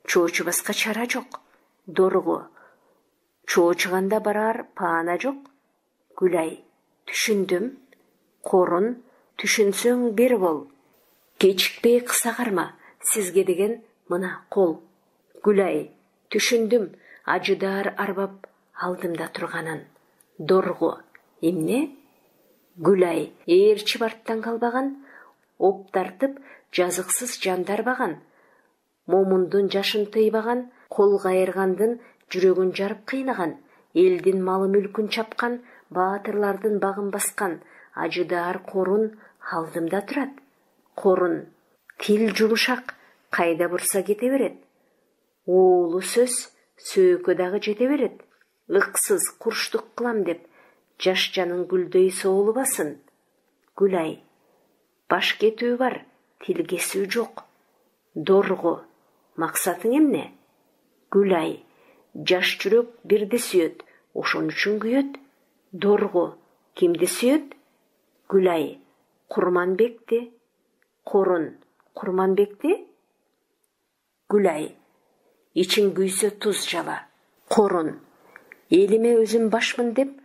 [SPEAKER 1] чоочубаска чара жок. Дорго: чоочуганда барар паана жок. Гүлай: түшүндүм. Корун: түшүнсөң бер бол. Кечикпей кыса карма, сизге деген мына кол. Гүлай: түшүндүм, ажыдаар арбап алдымда турганын. Дорго: эмне? Гүлай: ээрчип арттан калбаган, оп тартып жазыксыз жандарбаган, момундун жашын тыйбаган, кол кайыргандын жүрөгүн жарып кыйнаган, элдин малы мүлкүн чапкан, баатырлардын багын баскан ажыдаар Корун алдымда турат. Корун: тил жумшак, кайда бурса кете берет. Уулу сөз, сөөгө дагы жете берет. Ыксыз курчтук кылам деп, жаш жанын гүлдөй соолубасын. Гүлай: баш кетүү бар, тил кесүү жок. Дорго: максатың эмне? Гүлай: жаш жүрөк бирди сүйөт, ошон үчүн күйөт. Дорго: кимди сүйөт? Гүлай: Курманбекти. Корун: Курманбекти? Гүлай: ичиң күйсө туз жала. Корун: элиме өзүм башмын деп,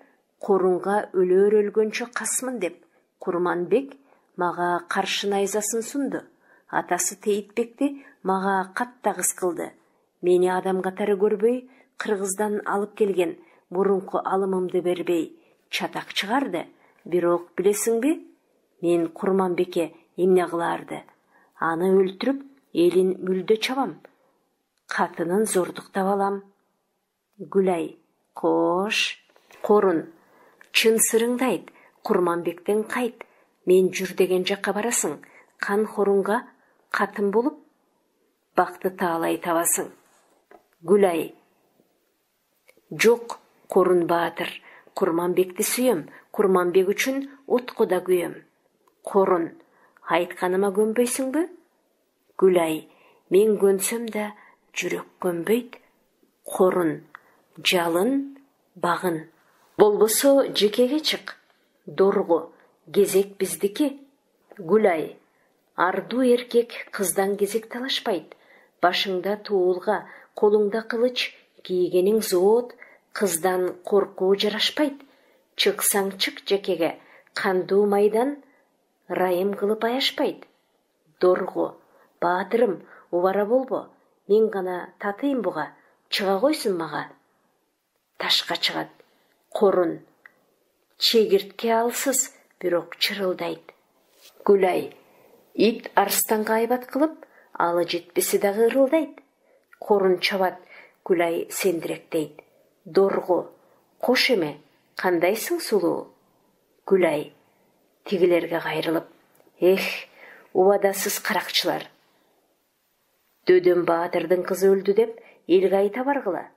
[SPEAKER 1] Корунга өлөр өлгөнчө касмын деп, Курманбек мага каршы найзасын сунду. Атасы Тейитбекти мага каттагыс кылды. Мени адам катары көрбөй, Кыргыздан алып келген мурунку алымымды бербей, чатак чыгарды. Бирок билесиңби, мен Курманбекке эмне кыларды? Аны өлтүрүп, элин мүлдө чабам. Катынын зордуктап алам. Гүлай: кош. Корун: чын сырыңды айт, Курманбектен кайт. Мен жүр деген жакка барасың, кан хорунга катын болуп, бакты таалай табасың. Гүлай: жок, Корун баатыр, Курманбекти сүйөм, Курманбек үчүн отко да күйөм. Корун: айтканыма көнбөйсүңбү? Гүлай: мен көнсөм да жүрөк көнбөйт. Корун: жалын, багын. Болбосо жекеге чык. Дорго: кезек биздики. Гүлай: ардуу эркек кыздан кезек талашпайт. Башыңда туулга, колуңда кылыч, кийгениң зоот, Кыздан коркуу жарашпайт. Чыксаң чык жекеге, кандуу майдан райым кылып аяшпайт. Дорго, баатырым, убара болбо. Мен гана татыйм буга, чыга койсун мага. Ташка чыгат. Корун. Чегиртке алсыз, бирок чырылдайт. Гүлай. Ит арстанга айбат кылып, алы жетпеси дагы ырылдайт. Корун чабат, Гүлай сендиректейт. Дорго. Кош эме, кандайсың сулуу? Гүлай. Тигилерге кайрылып. Эх, убадасыз каракчылар. Дөдөн баатырдын кызы өлдү деп элге айта баргыла.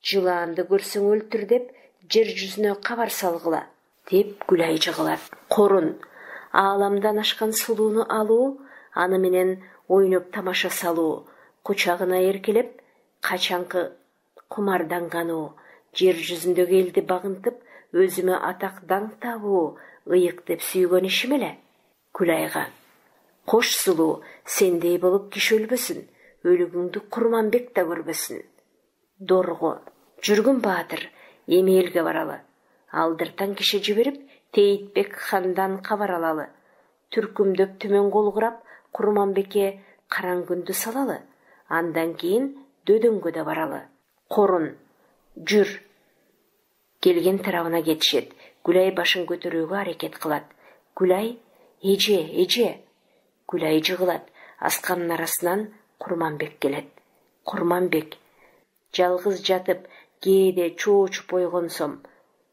[SPEAKER 1] Жылаанды көрсөң өлтүр деп жер жүзүнө кабар салгыла, деп Гүлай жыгылат. Корун. Ааламдан ашкан сулууну алуу, аны менен ойноп тамаша салуу, кучагына эркелеп, качанкы кумардангануу, жер жүзүндөгү элди багынтып, өзүмө атак даңк табуу, ыйык деп сүйгөн ишим эле. Гүлайга. Кош сулуу, сендей болуп киши өлбөсүн, өлүгүңдү Курманбек да көрбөсүн. Дорго. Жүргүн баатыр, эми элге баралы. Алдыртан киши жиберип, Тейитбек хандан кабар алалы. Түркүмдөп түмөн кол курап, Курманбекке караң күндү салалы. Андан кийин Дөдөнгө да баралы. Корун. Жүр. Келген тарабына кетишет. Гүлай башын көтөрүүгө аракет кылат. Гүлай. Эже. Гүлай жыгылат. Асканын арасынан Курманбек келет. Курманбек. Жалгыз жатып, кээде чоочуп ойгонсом,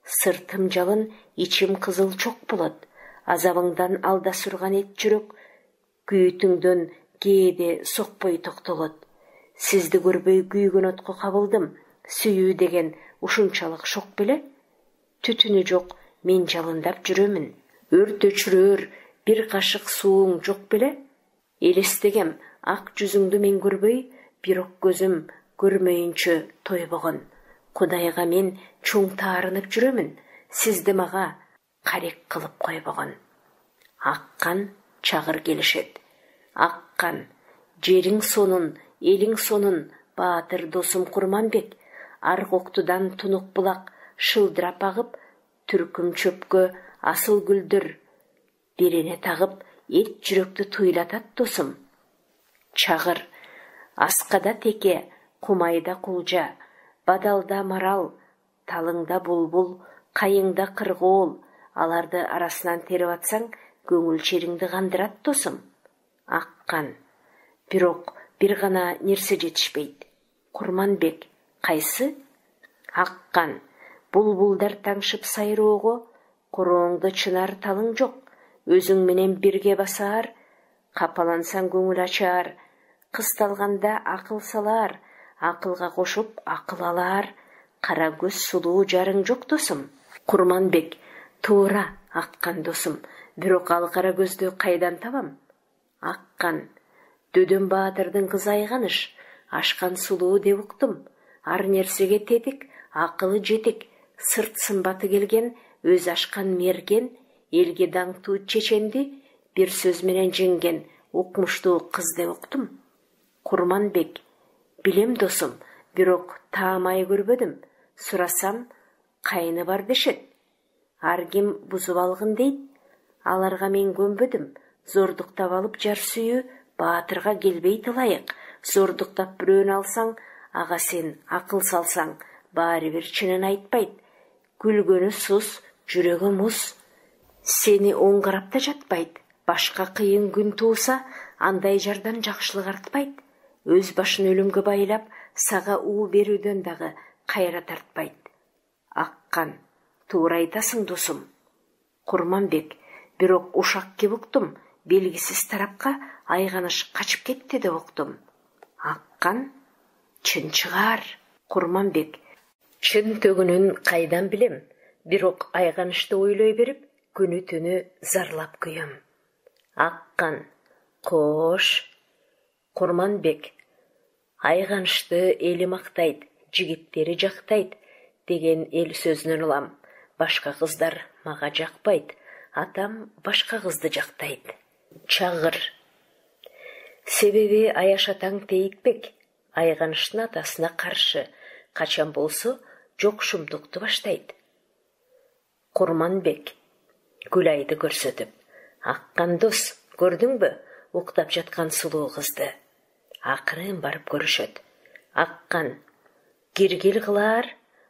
[SPEAKER 1] сыртым жалын, ичим кызыл чок болот. Азабыңдан алда сурган эт жүрөк, күйүтүңдөн кээде сокпой токтолот. Сизди көрбөй күйгөн отко кабылдым, сүйүү деген ушунчалык шок беле? Түтүнү жок, мен жалындап жүрөмүн. Өрт өчүрөр бир кашык сууң жок беле? Элестегем, ак жүзүңдү мен көрбөй, бирок көзүм көрмөйүнчө тойбогон. Кудайга мен чоң таарынып жүрөмүн, сизди мага карек кылып койбогон. Аккан чагыр келишет. Аккан, жериң сонун, элиң сонун, баатыр досум Курманбек. Аргоктудан тунук булак шылдырап агып, түркүм чөпкө асыл гүлдөр берене тагып, эт жүрөктү туйлатат досум. Чагыр. Аскада теке, кумайда кулжа, бадалда марал, талыңда булбул, кайыңда кыргоол. Аларды арасынан терип атсаң, көңүл чериңди кандырат досум. Аккан. Бирок бир гана нерсе жетишпейт. Курманбек. Кайсы? Аккан. Булбулдар таңшып сайроого, корооңдо чынар талың жок. Өзүң менен бирге басаар, капалансаң көңүл ачаар. Кысталганда акыл салаар, акылга кошуп акыл алаар. Кара көз сулуу жарың жок досум. Курманбек. Туура, Аккан досум, бирок ал кара көздү кайдан табам? Аккан. Дөдөн баатырдын кызы Айганыш, ашкан сулуу деп уктум. Ар нерсеге тетик, акылы жетик, сырт сымбаты келген, өз ашкан мерген, элге даңктуу чеченди бир сөз менен жеңген укмуштуу кыз деп уктум. Курманбек. Билем досум, бирок таамай көрбөдүм. Сурасам, кайны бар дешет. Ар ким бузуп алгын дейт. Аларга мен көнбөдүм. Зордуктап алып жар сүйүү баатырга келбейт ылайык. Зордуктап бирөөнү алсаң, ага сен акыл салсаң, баары бир чынын айтпайт. Күлгөнү сус, жүрөгү муз. Сени оң карап да жатпайт. Башка кыйын күн тууса, андай жардан жакшылык артпайт. Өз башын өлүмгө байлап, сага уу берүүдөн дагы кайра тартпайт. Аккан. Туура айтасың досум. Курманбек. Бирок ушак кеп уктум, белгисиз тарапка Айганыш качып кетти деп уктум. Аккан. Чын чыгар. Курманбек. Чын төгүнүн кайдан билем, бирок Айганышты ойлой берип, күнү түнү зарлап күйөм. Аккан. Кош. Курманбек. Айганышты эли мактайт, жигиттери жактайт деген эл сөзүнөн улам. Башка кыздар мага жакпайт, атам башка кызды жактайт. Чагыр. Себеби Аяш атаң Тейитбек Айганыштын атасына каршы, качан болсо жок шумдукту баштайт. Курманбек Гүлайды көрсөтүп: «Аккан дос, көрдүңбү уктап жаткан сулуу кызды?» Акырын барып көрүшөт. Аккан киргил кылар,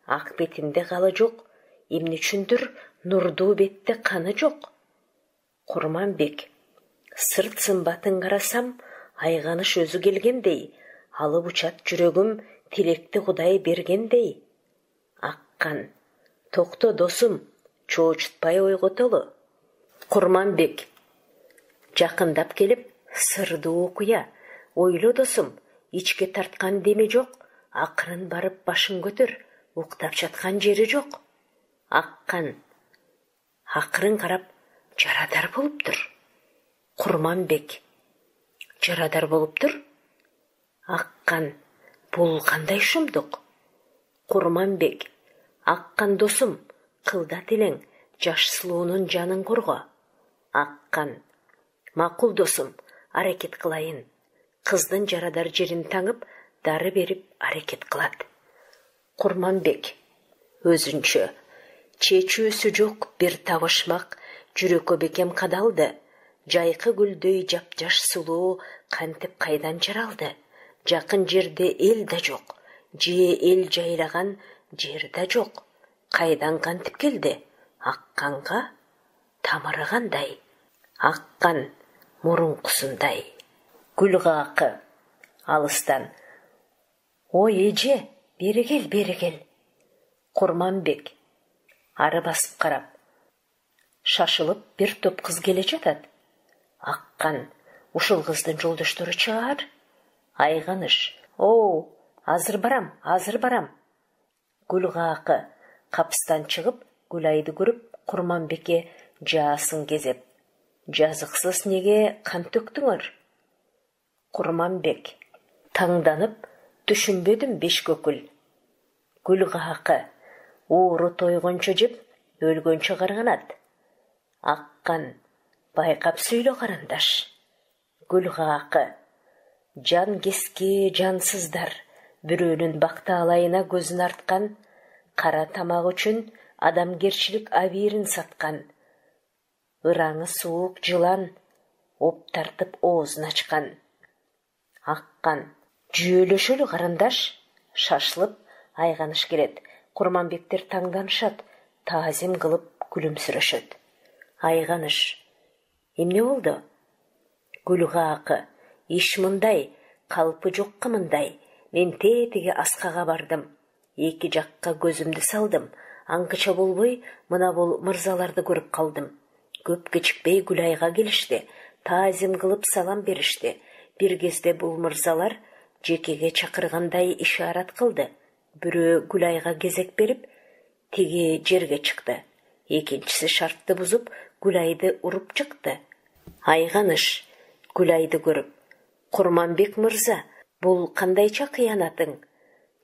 [SPEAKER 1] ак бетинде калы жок, эмне үчүндүр нурдуу бетте каны жок. Курманбек сырт сымбатын карасам, айганыш өзү келгендей, алып учат жүрөгүм тилекти Кудай бергендей. Аккан: «Токто досум, чоочутпай ойготолу». Курманбек жакындап келип: «Сырдуу окуя, ойло досум, ичке тарткан деме жок, акырын барып башын көтөр, уктап жаткан жери жок». Аккан акырын карап: «Жарадар болуптур». Курманбек: «Жарадар болуптур?» Аккан: «Бул кандай шумдук?» Курманбек: «Аккан досум, кылдат элең, жаш сулуунун жанын корго». Аккан: «Макул досум, аракет кылайын». Кыздын жарадар жерин таңып, дары берип аракет кылат. Курманбек өзүнчө: «Чечүүсү жок бир табышмак жүрөккө бекем кадалды. Жайкы гүлдөй жапжаш сулуу кантип кайдан жаралды? Жакын жерде эл да жок, же эл жайлаган жер да жок. Кайдан кантип келди? Акканга тамыры кандай? Аккан мурункусундай». Гүлгакы алыстан: «Ой эже, бери кел, бери кел». Курманбек ары басып карап: «Шашылып бир топ кыз келе жатат». Аккан: «Ушул кыздын жолдоштору чыгар?» Айганыш: «О, азыр барам, азыр барам». Гүлгакы капыстан чыгып, Гүлайды көрүп, Курманбекке жаасын кезеп: «Жазыксыз неге кан төктүңөр?» Курманбек таңданып: «Түшүнбөдүм бешкөкүл». Гүлгакы: «Ууру тойгончо жеп, өлгөнчө карганат». Аккан: «Байкап сүйлө карандаш». Гүлгакы: «Жан кески жансыздар, бирөөнүн бактаалайына көзүн арткан, кара тамак үчүн адамгерчилик абийирин саткан. Ыраңы суук жылан оп тартып оозун ачкан». Аккан: «Жүйөлөшөлү карандаш». Шашылып айганыш келет. Курманбектер таңданышат, таазим кылып күлүмсүрөшөт. Айганыш: «Эмне болду?» Гүлгакы: «Иш мындай, калпы жокко мындай. Мен тетиги аскага бардым. Эки жакка көзүмдү салдым. Аңкыча болбой, мына бул мырзаларды көрүп калдым. Көп кечикпей Гүлайга келишти, таазим кылып салам беришти. Бир кезде бул мырзалар жекеге чакыргандай ишарат кылды. Бирөө Гүлайга кезек берип, тиги жерге чыкты. Экинчиси шартты бузуп, Гүлайды уруп чыкты». Айганыш Гүлайды көрүп: «Курманбек мырза, бул кандайча кыянатың?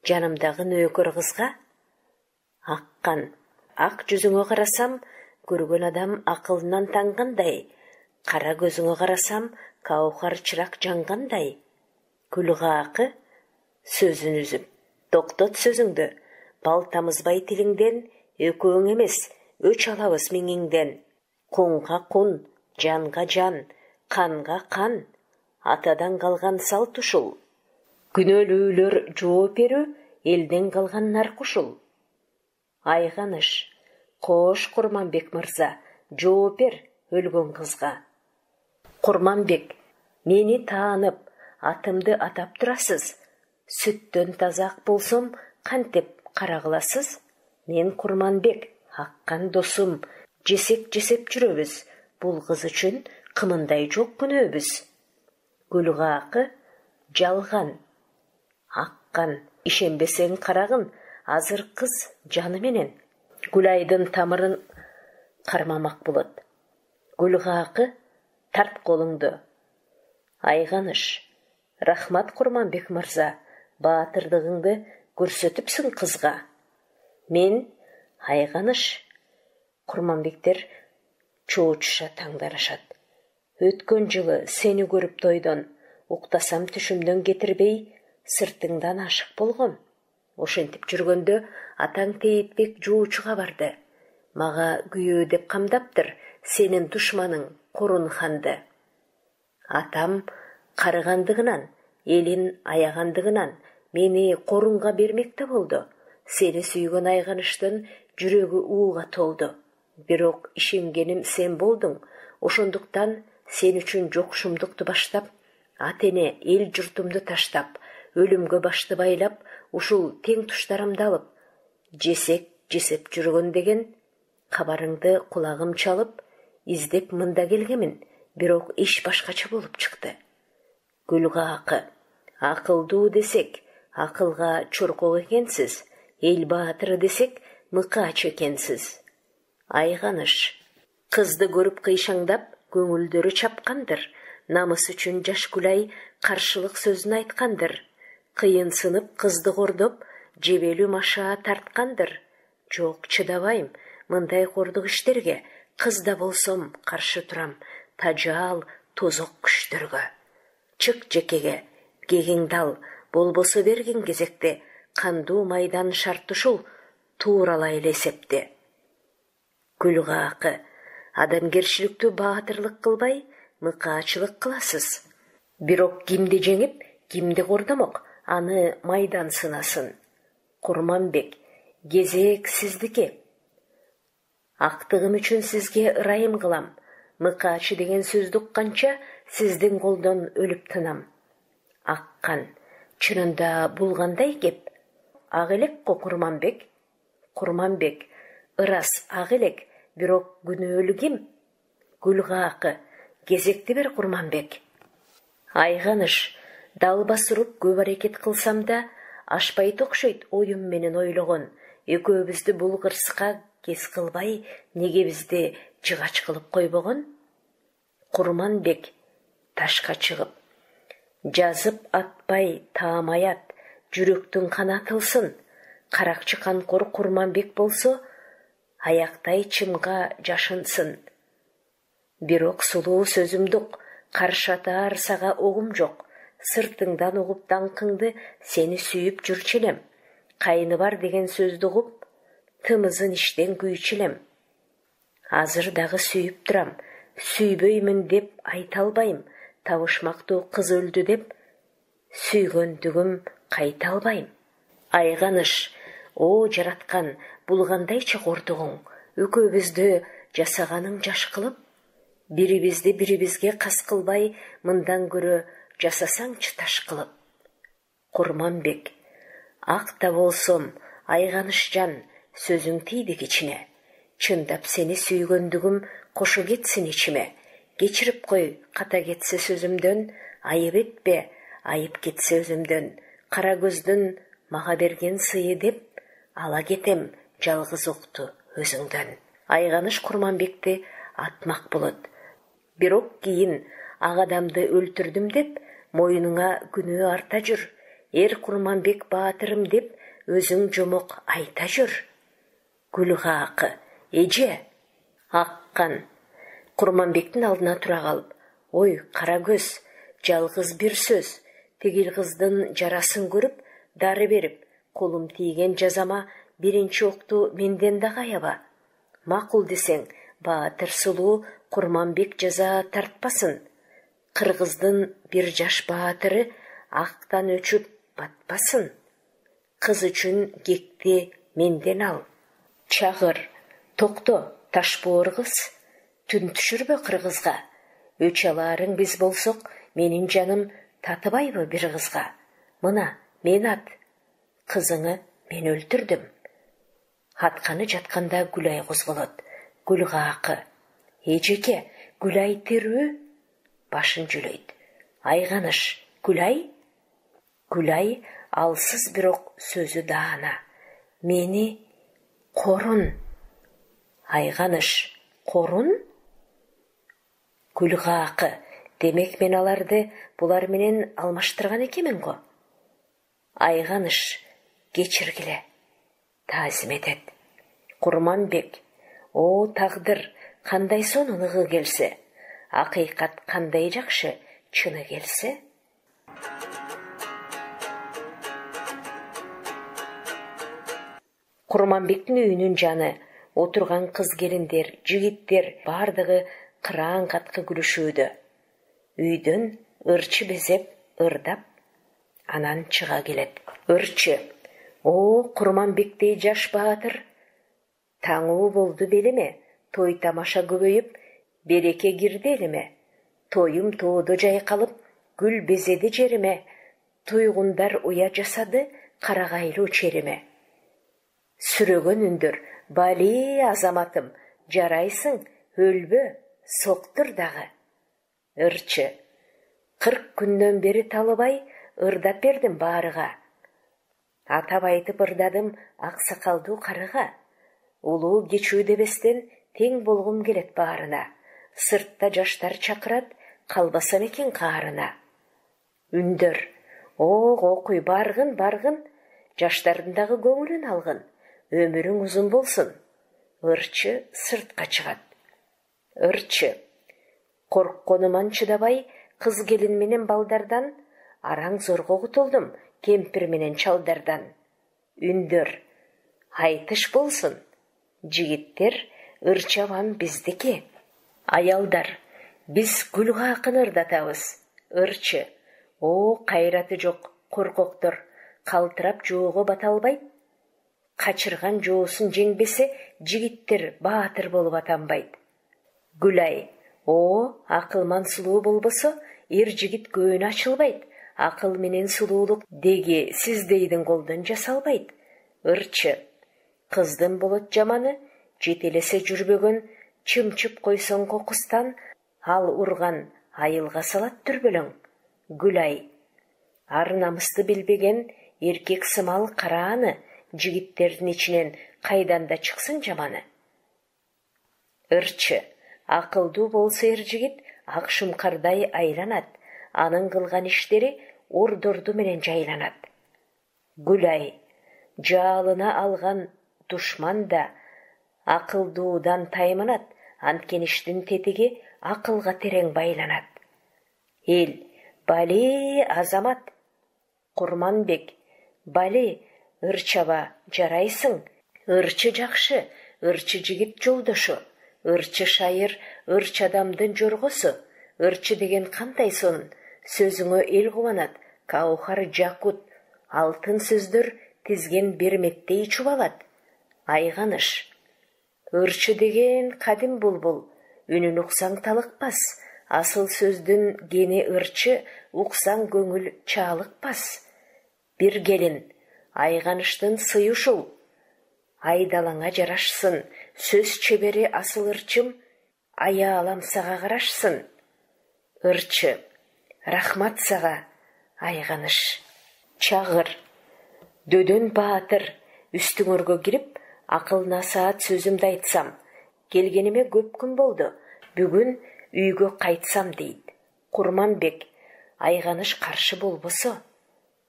[SPEAKER 1] Жанымдагы нөөкөр кызга?» Аккан: «Ак жүзүңө карасам, көргөн адам акылынан тангандай. Кара көзүңө карасам, каухар чырак жангандай». Гүлгакы сөзүн үзүп: «Токтот сөзүңдү. Бал тамызбай тилиңден, экөөң эмес, өч алабыз миңиңден. Кунга кун, жанга жан, канга кан. Атадан калган салт ушул. Күнөөлүүлөр жооп берүү, элден калган нарк ушул». Айганыш: «Кош Курманбек мырза, жооп бер өлгөн кызга». Курманбек: «Мени таанып, атымды атап турасыз. Сүттөн таза ак болсом, кантип кара кыласыз? Мен Курманбек, Аккан досум, жесек жесеп жүрөбүз. Бул кыз үчүн кымындай жок күнөөбүз». Гүлгакы: «Жалган». Аккан: «Ишенбесең карагын, азыр кыз жаны менен Гүлайдын тамырын кармамак болот». Гүлгакы: «Тарт колуңду». Айганыш: «Рахмат Курманбек мырза, баатырдыгыңды көрсөтүпсүң кызга». Мен Айганыш. Курманбектер чоочуша таңданышат. «Өткөн жылы сени көрүп тойдон, уктасам түшүмдөн кетирбей, сыртыңдан ашык болгом. Ошентип жүргөндө атаң Тейитбек жуучуга барды. Мага күйөө деп камдаптыр сенин душманың Корун ханды. Атам карыгандыгынан, элин аягандыгынан мени Корунга бермекте болду. Сени сүйгөн Айганыштын жүрөгү ууга толду. Бирок ишенгеним сен болдуң. Ошондуктан сен үчүн жокшумдукту баштап, ата-эне эл журтумду таштап, өлүмгө башты байлап, ушул тең туштарымды алып, жесек жүргөн деген кабарыңды кулагым чалып, издеп мында келгемин, бирок иш башкача болуп чыкты. Гүлгакы, акылдуу десек, акылга чоркок экенсиз, эл баатыры десек, мыкаач экенсиз. Айганыш, кызды көрүп кыйшаңдап, көңүлдөрү чапкандыр. Намыс үчүн жаш Гүлай каршылык сөзүн айткандыр. Кыйынсынып кызды кордоп, жебелүү маша тарткандыр. Жок, чыдабайм мындай кордук иштерге, кызда болсом каршы турам тажаал тозок күчтөргө. Чык жекеге, кегиңди ал, болбосо берген кезекте, кандуу майдан шарт ушул, тууралай эле эсепти. Гүлгакы, адамгерчиликтүү баатырлык кылбай, мыкаачылык кыласыз. Бирок кимди жеңип, кимди кордомок, аны майдан сынасын. Курманбек, кезек сиздики. Актыгым үчүн сизге ырайым кылам. Мыкаачы деген сөздү укканча сиздин колдон өлүп тынам. Аккан, чынында бул кандай кеп? Ак элек го Курманбек. Курманбек, ырас ак элек, бирок күнөөлүү ким? Гүлгакы, кезекти бер Курманбек. Айганыш, далбас уруп көп аракет кылсам да, ашпайт окшойт оюм менен ойлогон. Экөөбүздү бул кырсыкка кес кылбай, неге бизди жыгач кылып койбогон? Курманбек, ташка чыгып, жазып атпай таамай ат, жүрөктүн канатылсын. Каракчы канкор Курманбек болсо, аяктай чымга жашынсын. Бирок сулуу сөзүмдүк, каршатаар сага огум жок. Сыртыңдан угуп даңкыңды сени сүйүп жүрчү элем. Кайны бар деген сөздү угуп, тымызын иштен күйчү элем. Азыр дагы сүйүп турам, сүйбөймүн деп айта албайм. Табышмактуу кыз өлдү деп, сүйгөндүгүм кайта албайм. Айганыш, о жараткан, бул кандайча кордугуң? Экөөбүздү жасаганың жаш кылып, бирибизди бирибизге кас кылбай, мындан көрө жасасаңчы таш кылып. Курманбек, ак да болсом, Айганышжан, сөзүң тийди кичине. Чындап сени сүйгөндүгүм кошо кетсин ичиме. Кечирип кой, ката кетсе сөзүмдөн, айып этпе, айып кетсе өзүмдөн. Кара көздүн мага берген сыйы деп, ала кетем жалгыз окту өзүңдөн. Айганыш Курманбекти атмак болот. Бирок кийин ак адамды өлтүрдүм деп, моюнуңа күнөө арта жүр. Эр Курманбек баатырым деп, өзүң жомок айта жүр. Гүлгакы, эже. Аккан, Курманбектин алдына тура калып, ой, кара көз, жалгыз бир сөз. Тигил кыздын жарасын көрүп, дары берип, колум тийген жазама биринчи окту менден да каяба. Макул десең, баатыр сулуу Курманбек жаза тартпасын. Кыргыздын бир жаш баатыры актан өчүп батпасын. Кыз үчүн кекти менден ал. Чагыр, токто, ташбоор кыз, түн түшүрбө кыргызга. Өч алаарың биз болсок, менин жаным татыбайбы бир кызга? Мына, мен ат, кызыңы мен өлтүрдүм. Атканы жатканда Гүлай козголот. Гүлгакы, эжеке, Гүлай тирүү? Башын жүлөйт. Айганыш, Гүлай? Гүлай алсыз бирок сөзү даана. Мени Корун. Айганыш, Корун? Гүлгакы, демек мен аларды булар менен алмаштырган экенмин го. Айганыш, кечиргиле, таазим этет. Курманбек, о тагдыр, кандай сонун ыгы келсе, акыйкат кандай жакшы, чыны келсе. Курманбектин үйүнүн жаны, отурган кыз келиндер, жигиттер бардыгы кыраан каткы күлүшүүдө. Үйдөн ырчы безеп, ырдап, анан чыга келет. Ырчы: "О, Курманбектей жаш баатыр, таңуу болду белеме? Той тамаша көбөйүп, береке кирди элеме? Тоюм тоодо жайкалып, гүл безеди жериме. Туйгундар уя жасады, карагайлуу чериме." Сүрөгөн үндөр: "Бали, азаматым, жарайсың, өлбө, соктур дагы." Ырчы: "40 күндөн бери талыбай, ырдап бердим баарыга. Атап айтып ырдадым аксакалдуу карыга. Улуу кечүү дебестен тең болгум келет баарына. Сыртта жаштар чакырат, калбасам экен каарына." Үндөр: "О, окуй, баргын, жаштардын дагы көңүлүн алгын. Өмүрүң узун болсун." Ырчы сыртка чыгат. Ырчы: "Коркконуман чыдабай, кыз келин менен балдардан, араң зорго кутулдум, кемпир менен чалдардан." Үндөр: "Айтыш болсун." Жигиттер: "Ырчабам биздики." Аялдар: "Биз гүлгакын ырдатабыз." Ырчы: "О, кайраты жок коркоктор, калтырап жоого бата албайт. Качырган жоосун жеңбесе, жигиттер баатыр болуп атанбайт." Гүлай: "О, акылман сулуу болбосо, эр жигит көөнү ачылбайт. Акыл менен сулуулук деги сиздейдин колдон жасалбайт." Ырчы: "Кыздын болот жаманы, жетелесе жүрбөгөн, чымчып койсоң кокустан, ал урган айылга салат дүрбөлөң." Гүлай: "Ар намысты билбеген эркек сымал карааны, жигиттердин ичинен кайдан да чыксын жаманы." Ырчы: "Акылдуу болсо эр жигит ак шумкардай айланат, анын кылган иштери ордорду менен жайланат." Гүлай: "Жаалына алган душман да акылдуудан тайманат, анткени иштин тетиги акылга терең байланат." Эл: "Бали, азамат, Курманбек, бали, ырчаба, жарайсың. Ырчы жакшы, ырчы жигит жолдошу. Ырчы шайыр, ырчы адамдын жоргосу. Ырчы деген кандай сонун, сөзүңө эл кубанат, каухар жакут, алтын сөздөр тизген берметтей чубалат." Айганыш: "Ырчы деген кадим булбул, үнүн уксаң талыкпас. Асыл сөздүн кени ырчы, уксаң көңүл чаалыкпас." Бир келин: "Айганыштын сыйы ушул, айдалаңа жарашсын. Сөз чебери асыл ырчым, аялам сага карашсын." Ырчы: "Рахмат сага, Айганыш." Чагыр: "Дөдөн баатыр, үстүңөргө кирип, акыл насаат сөзүмдү айтсам. Келгениме көп күн болду, бүгүн үйгө кайтсам" дейт. Курманбек: "Айганыш каршы болбосо."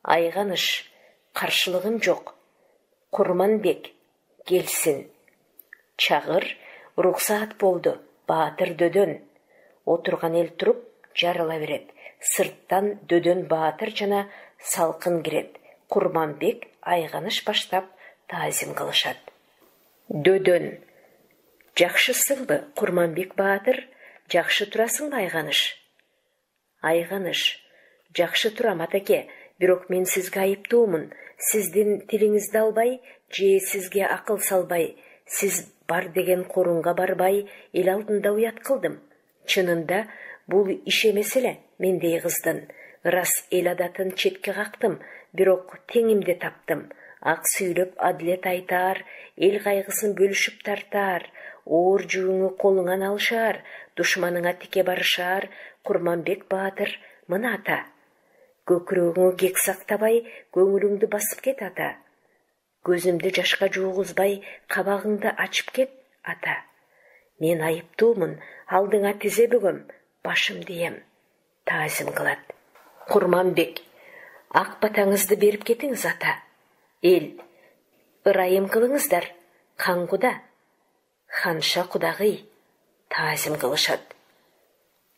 [SPEAKER 1] Айганыш: "Каршылыгым жок. Курманбек келсин." Чагыр: "Уруксаат болду, баатыр Дөдөн." Отурган эл туруп жарыла берет. Сырттан Дөдөн баатыр жана салкын кирет. Курманбек, Айганыш баштап таазим кылышат. Дөдөн: "Жакшысыңбы, Курманбек баатыр? Жакшы турасыңбы, Айганыш?" Айганыш: "Жакшы турам, атаке, бирок мен сизге айыптуумун. Сиздин тилиңизди албай, же сизге акыл салбай, сиз бар деген корунга барбай, эл алдында уят кылдым. Чынында бул иш эмес эле мендей кыздын. Ырас эл адатын четке кактым, бирок теңимди таптым. Ак сүйлөп адилет айтаар, эл кайгысын бөлүшүп тартаар, оор жүгүңү колуңан алышаар, душманыңа тике барышаар. Курманбек баатыр, мына ата. Көкүрөгүңө кек сактабай, көңүлүңдү басып кет, ата. Көзүмдү жашка жуугузбай, кабагыңды ачып кет, ата. Мен айыптуумун, алдыңа тизе бөгөм, башым дием." Таазим кылат. Курманбек: "Ак батаңызды берип кетиңиз, ата." Эл: "Ырайым кылыңыздар, кан куда, ханша кудагый." Таазим кылышат.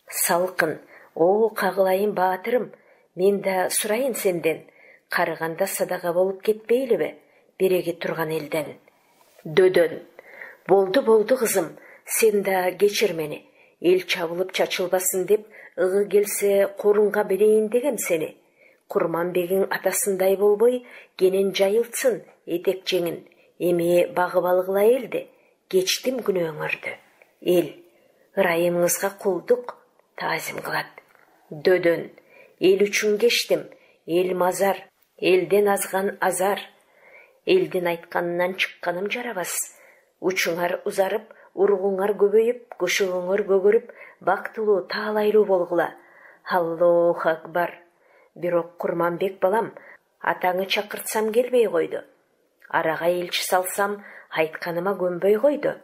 [SPEAKER 1] Салкын: "О, кагылайын баатырым, мен да сурайын сенден. Карыганда садага болуп кетпейлиби, береги турган элден?" Дөдөн. Болду кызым, сен да кечир мени. Эл чабылып чачылбасын деп, ыгы келсе корунга берейин дегем сени. Курманбегиң атасындай болбой, кенен жайылтсын этек жеңин. Эми багып алгыла элди. Кечтим күнөөңөрдү. Эл ырайымыңызга кулдук таазим кылат. Дөдөн. Эл үчүн кечтим. Эл мазар, элден азган азар. Элдин айтканынан чыкканым жарабас. Учуңар узарып, ургуңар көбөйүп, көшөгөңөр көгөрүп, бактылуу, таалайлуу болгула. Аллоху акбар. Бирок Курманбек балам, атаңы чакыртсам келбей койду. Арага элчи салсам, айтканыма көнбөй койду.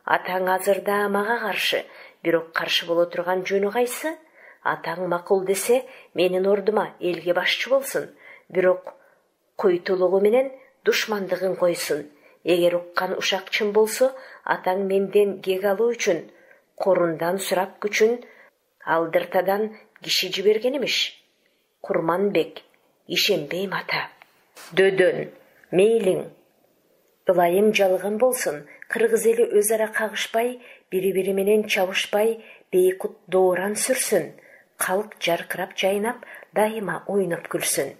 [SPEAKER 1] Атаң азырда мага каршы, бирок каршы боло турган жөнү кайсы? Атаң макул десе, менин ордума элге башчы болсун, бирок койтулугу менен душмандыгын койсун. Эгер уккан ушак чын болсо, атаң менден кек алуу үчүн, корундан сурап күчүн алдыртадан киши жиберген имиш. Курманбек, ишенбейм ата. Дөдөн. Мейлиң. Ылайым жалган болсун, кыргыз эли өз ара кагышпай, бири-бири менен чабышпай, бейкут дооран сүрсүн. Калк жаркырап жайнап, дайыма ойноп күлсүн.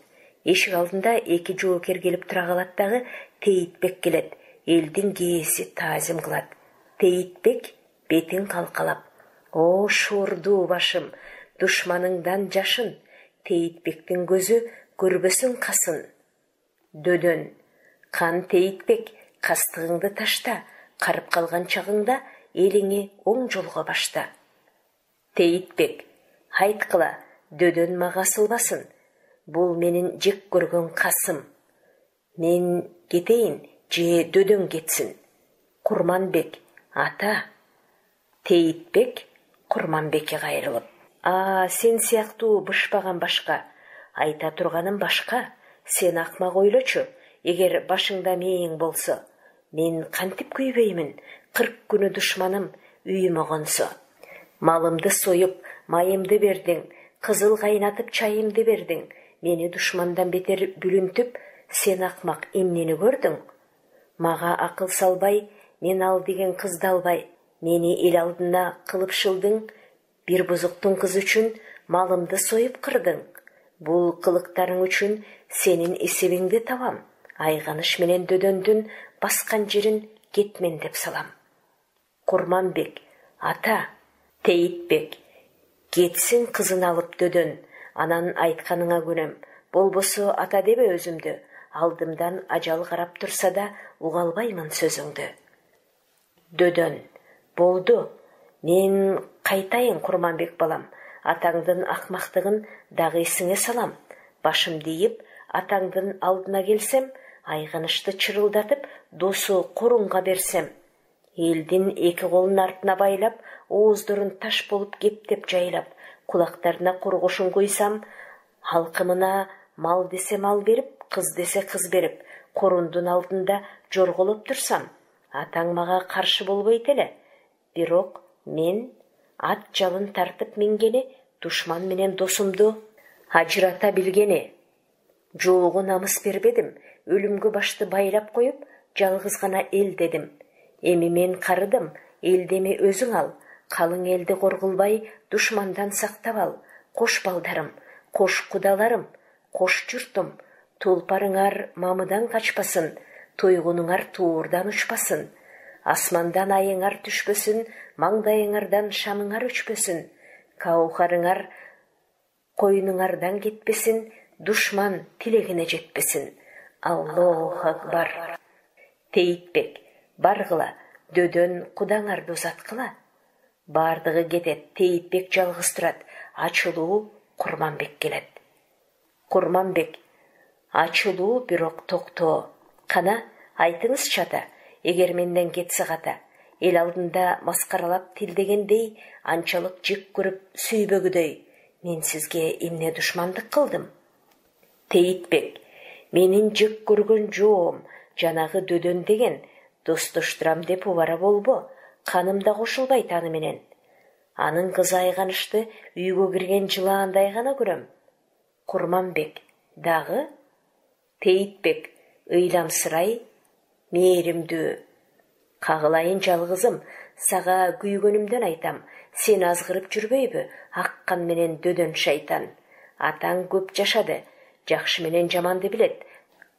[SPEAKER 1] Эшик алдында эки жоокер келип тура калат дагы, Тейитбек келет. Элдин кээси таазим кылат. Тейитбек бетин калкалап. О, шуурдуу башым, душманыңдан жашын. Тейитбектин көзү көрбөсүн касын. Дөдөн. Кан Тейитбек, кастыгыңды ташта, карып калган чагыңда элиңи оң жолго башта. Тейитбек. Айткыла, Дөдөн мага асылбасын. Бул менин жек көргөн касым. Мен кетейин, же Дөдөн кетсин. Курманбек. Ата. Тейитбек Курманбекке кайрылып. Сен сыяктуу бышпаган башка. Айта турганым башка. Сен акмак ойлочу. Эгер башыңда мээң болсо, мен кантип күйбөймүн. 40 күнү душманым үйүмө консо. Малымды союп, майымды бердиң, кызыл кайнатып чайымды бердиң. Мени душмандан бетер бүлүнтүп, сен акмак эмнени көрдүң? Мага акыл салбай, мен ал деген кызды албай, мени эл алдына кылып шылдың, бир бузуктун кызы үчүн малымды союп кырдың. Бул кылыктарың үчүн сенин эсебиңди табам. Айганыш менен Дөдөндүн баскан жерин кетмен деп салам. Курманбек. Ата. Тейитбек. Кетсин кызын алып Дөдөн. Анан айтканыңа көнөм. Болбосо ата дебе өзүмдү. Алдымдан ажал карап турса да уга албаймын сөзүңдү. Дөдөн. Болду. Мен кайтайын Курманбек балам. Атаңдын акмактыгын дагы эсиңе салам. Башымды ийип, атаңдын алдына келсем, айганышты чырылдатып, досу корунга берсем. Элдин эки колун артына байлап, ооздорун таш болуп кептеп жайлап, кулактарына кургушун куйсам, алкымына мал десе мал берип, кыз десе кыз берип, корундун алдында жорголоп турсам, атаң мага каршы болбойт эле. Бирок мен ат жалын тартып мингени, душман менен досумду ажырата билгени. Жоого намыс бербедим, өлүмгө башты байлап коюп, жалгыз гана эл дедим. Эми мен карыдым, элдеми өзүң ал, калың элди коргулбай, душмандан сактап ал. Кош балдарым, кош кудаларым, кош журтум, тулпарыңар мамыдан качпасын, тойгунуңар туурдан учпасын. Асмандан айыңар түшпөсүн, маңдайыңардан шамыңар өчпөсүн. Каухарыңар койнуңардан кетпесин, душман тилегине жетпесин. Аллоху акбар. Тейитбек. Баргыла, Дөдөн кудаңарды узаткыла. Бардыгы кетет, Тейитбек жалгыз турат. Ачылуу Курманбек келет. Курманбек. Ачылуу, бирок токтоо. Кана, айтыңызчы ата, эгер менден кетсе ката. Эл алдында маскаралап тилдегендей, анчалык жек көрүп сүйбөгүдөй. Мен сизге эмне душмандык кылдым? Тейитбек. Менин жек көргөн жоом, жанагы Дөдөн деген, достоштурам деп убара болбо. Канымда кошулбайт аны менен. Анын кызы айганышты үйгө кирген жылаандай гана көрөм. Курманбек. Дагы? Тейитбек. Ыйламсырай, мээримдүү. Кагылайын жалгызым, сага күйгөнүмдөн айтам, сен азгырып жүрбөйбү, аккан менен дөдөн шайтан. Атаң көп жашады, жакшы менен жаманды билет.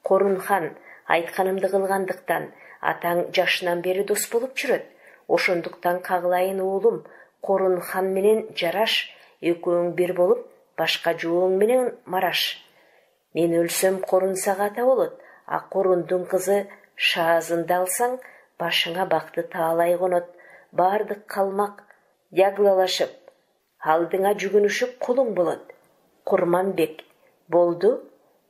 [SPEAKER 1] Корунхан айтканымды кылгандыктан атаң жашынан бери дос болуп жүрөт. Ошондуктан кагылайын уулум, Корунхан менен жараш, экөөң бир болуп, башка жууң менен мараш. Мен өлсөм Корун сага ата болот, а Корундун кызы Шаазынды алсаң, башыңа бакты таалай конот. Бардык калмак яглалашып, алдыңа жүгүнүшүп колуң болот. Курманбек, болду,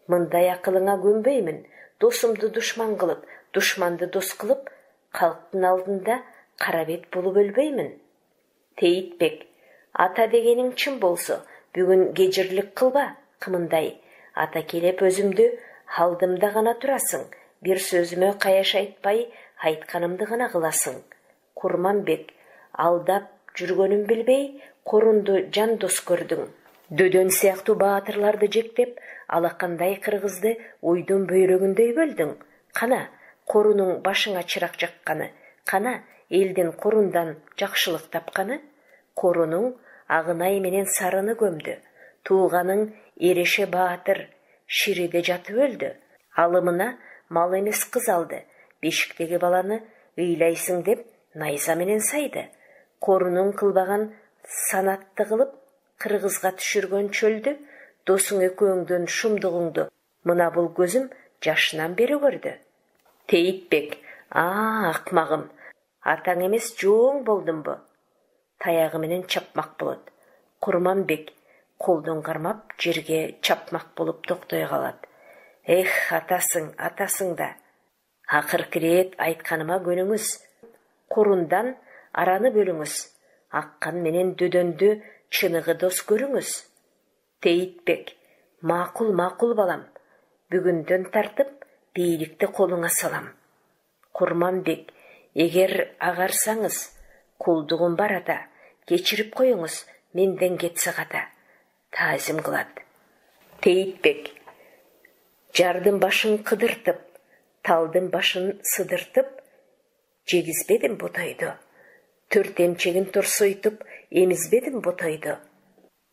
[SPEAKER 1] мындай акылыңа көнбөймүн. Досумду душман кылып, душманды дос кылып, калктын алдында кара бет болуп өлбөймүн. Тейитбек, ата дегениң чын болсо, бүгүн кежирлик кылба, кымындай. Ата келеп өзүмдү алдымда гана турасың, бир сөзүмө каяш айтпай, айтканымды гана кыласың. Курманбек, алдап жүргөнүм билбей, Корунду жан дос көрдүң. Дөдөн сыяктуу баатырларды жектеп, алакандай кыргызды уйдун бөйрөгүндөй бөлдүң. Кана, Корунуң башыңа чырак жакканы, кана, элдин Корундан жакшылык тапканы. Корунуң Агынай менен Сарыны көмдү. Тууганың Эреше баатыр Шириде жатып өлдү. Алымына мал эмес кыз алды. Бешиктеги баланы ыйлайсың деп найза менен сайды. Корунуң кылбаган санатты кылып, кыргызга түшүргөн чөлдү, досуң экөөңдөн шумдугуңду мына бул көзүм жашынан бери көрдү. Тейитбек, акмагым, атаң эмес жууң болдумбу? Таягы менен чапмак болот. Курманбек колдон кармап жерге чапмак болуп токтой калат. Эх, атасың да. Акыркы рет айтканыма көнүңүз. Корундан араны бөлүңүз. Аккан менен дөдөндү чыныгы дос көрүңүз. Тейитбек, макул балам. Бүгүндөн тартып бийликти колуңа салам. Курманбек, эгер агарсаңыз, кулдугум бар ата, кечирип коюңуз, менден кетсе ката. Таазим кылат. Тейитбек, жардын башын кыдыртып, талдын башын сыдыртып, жегизбедим ботойду. Төрт эмчегин торсойтуп, эмизбедим ботойду.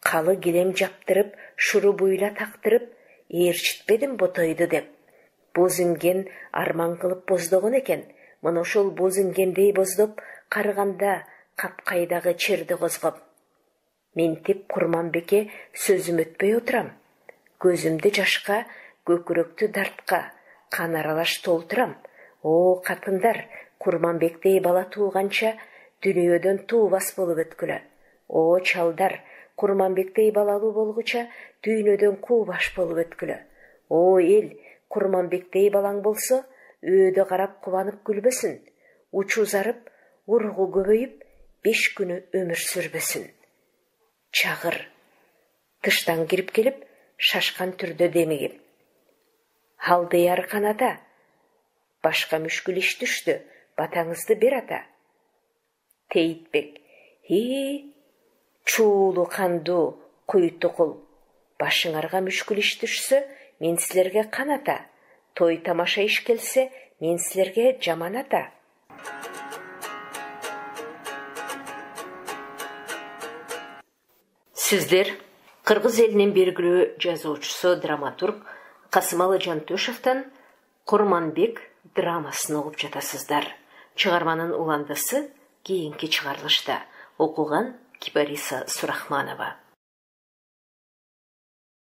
[SPEAKER 1] Калы килем жаптырып, шуру буйла тактырып, ээрчитпедим ботойду деп. Боз инген арман кылып боздогон экен. Мына ошол боз ингендей боздоп, карыганда капкайдагы черди козгоп. Ментип Курманбекке сөзүм өтпөй отурам. Көзүмдү жашка, көкүрөктү дартка, кан аралаш толтурам. О, катындар, Курманбектей бала тууганча дүйнөдөн туубас болуп өткүлө. О, чалдар, Курманбектей балалуу болгуча дүйнөдөн куубаш болуп өткүлө. О, эл, Курманбектей балаң болсо, өйдө карап кубанып күлбөсүн. Учу зарып, ургу көбөйүп, 5 күнү өмүр сүрбөсүн. Чагыр, тыштан кирип келип, шашкан түрдө демигип. Алдыяр канада, башка мүшкүл иш түштү, батаңызды бер ата. Тейитбек, чуулу кандуу куйтукул, башыңарга мүшкүл иш түшсө, мен силерге каната. Той тамаша иш келсе, мен силерге жаман ата. Сиздер кыргыз элинин белгилүү жазуучусу, драматург Касымалы Жантөшевден Курманбек драмасын угуп жатасыздар. Чыгарманын уландысы кийинки чыгарылышта. Окуган Кипариса Сурахманова.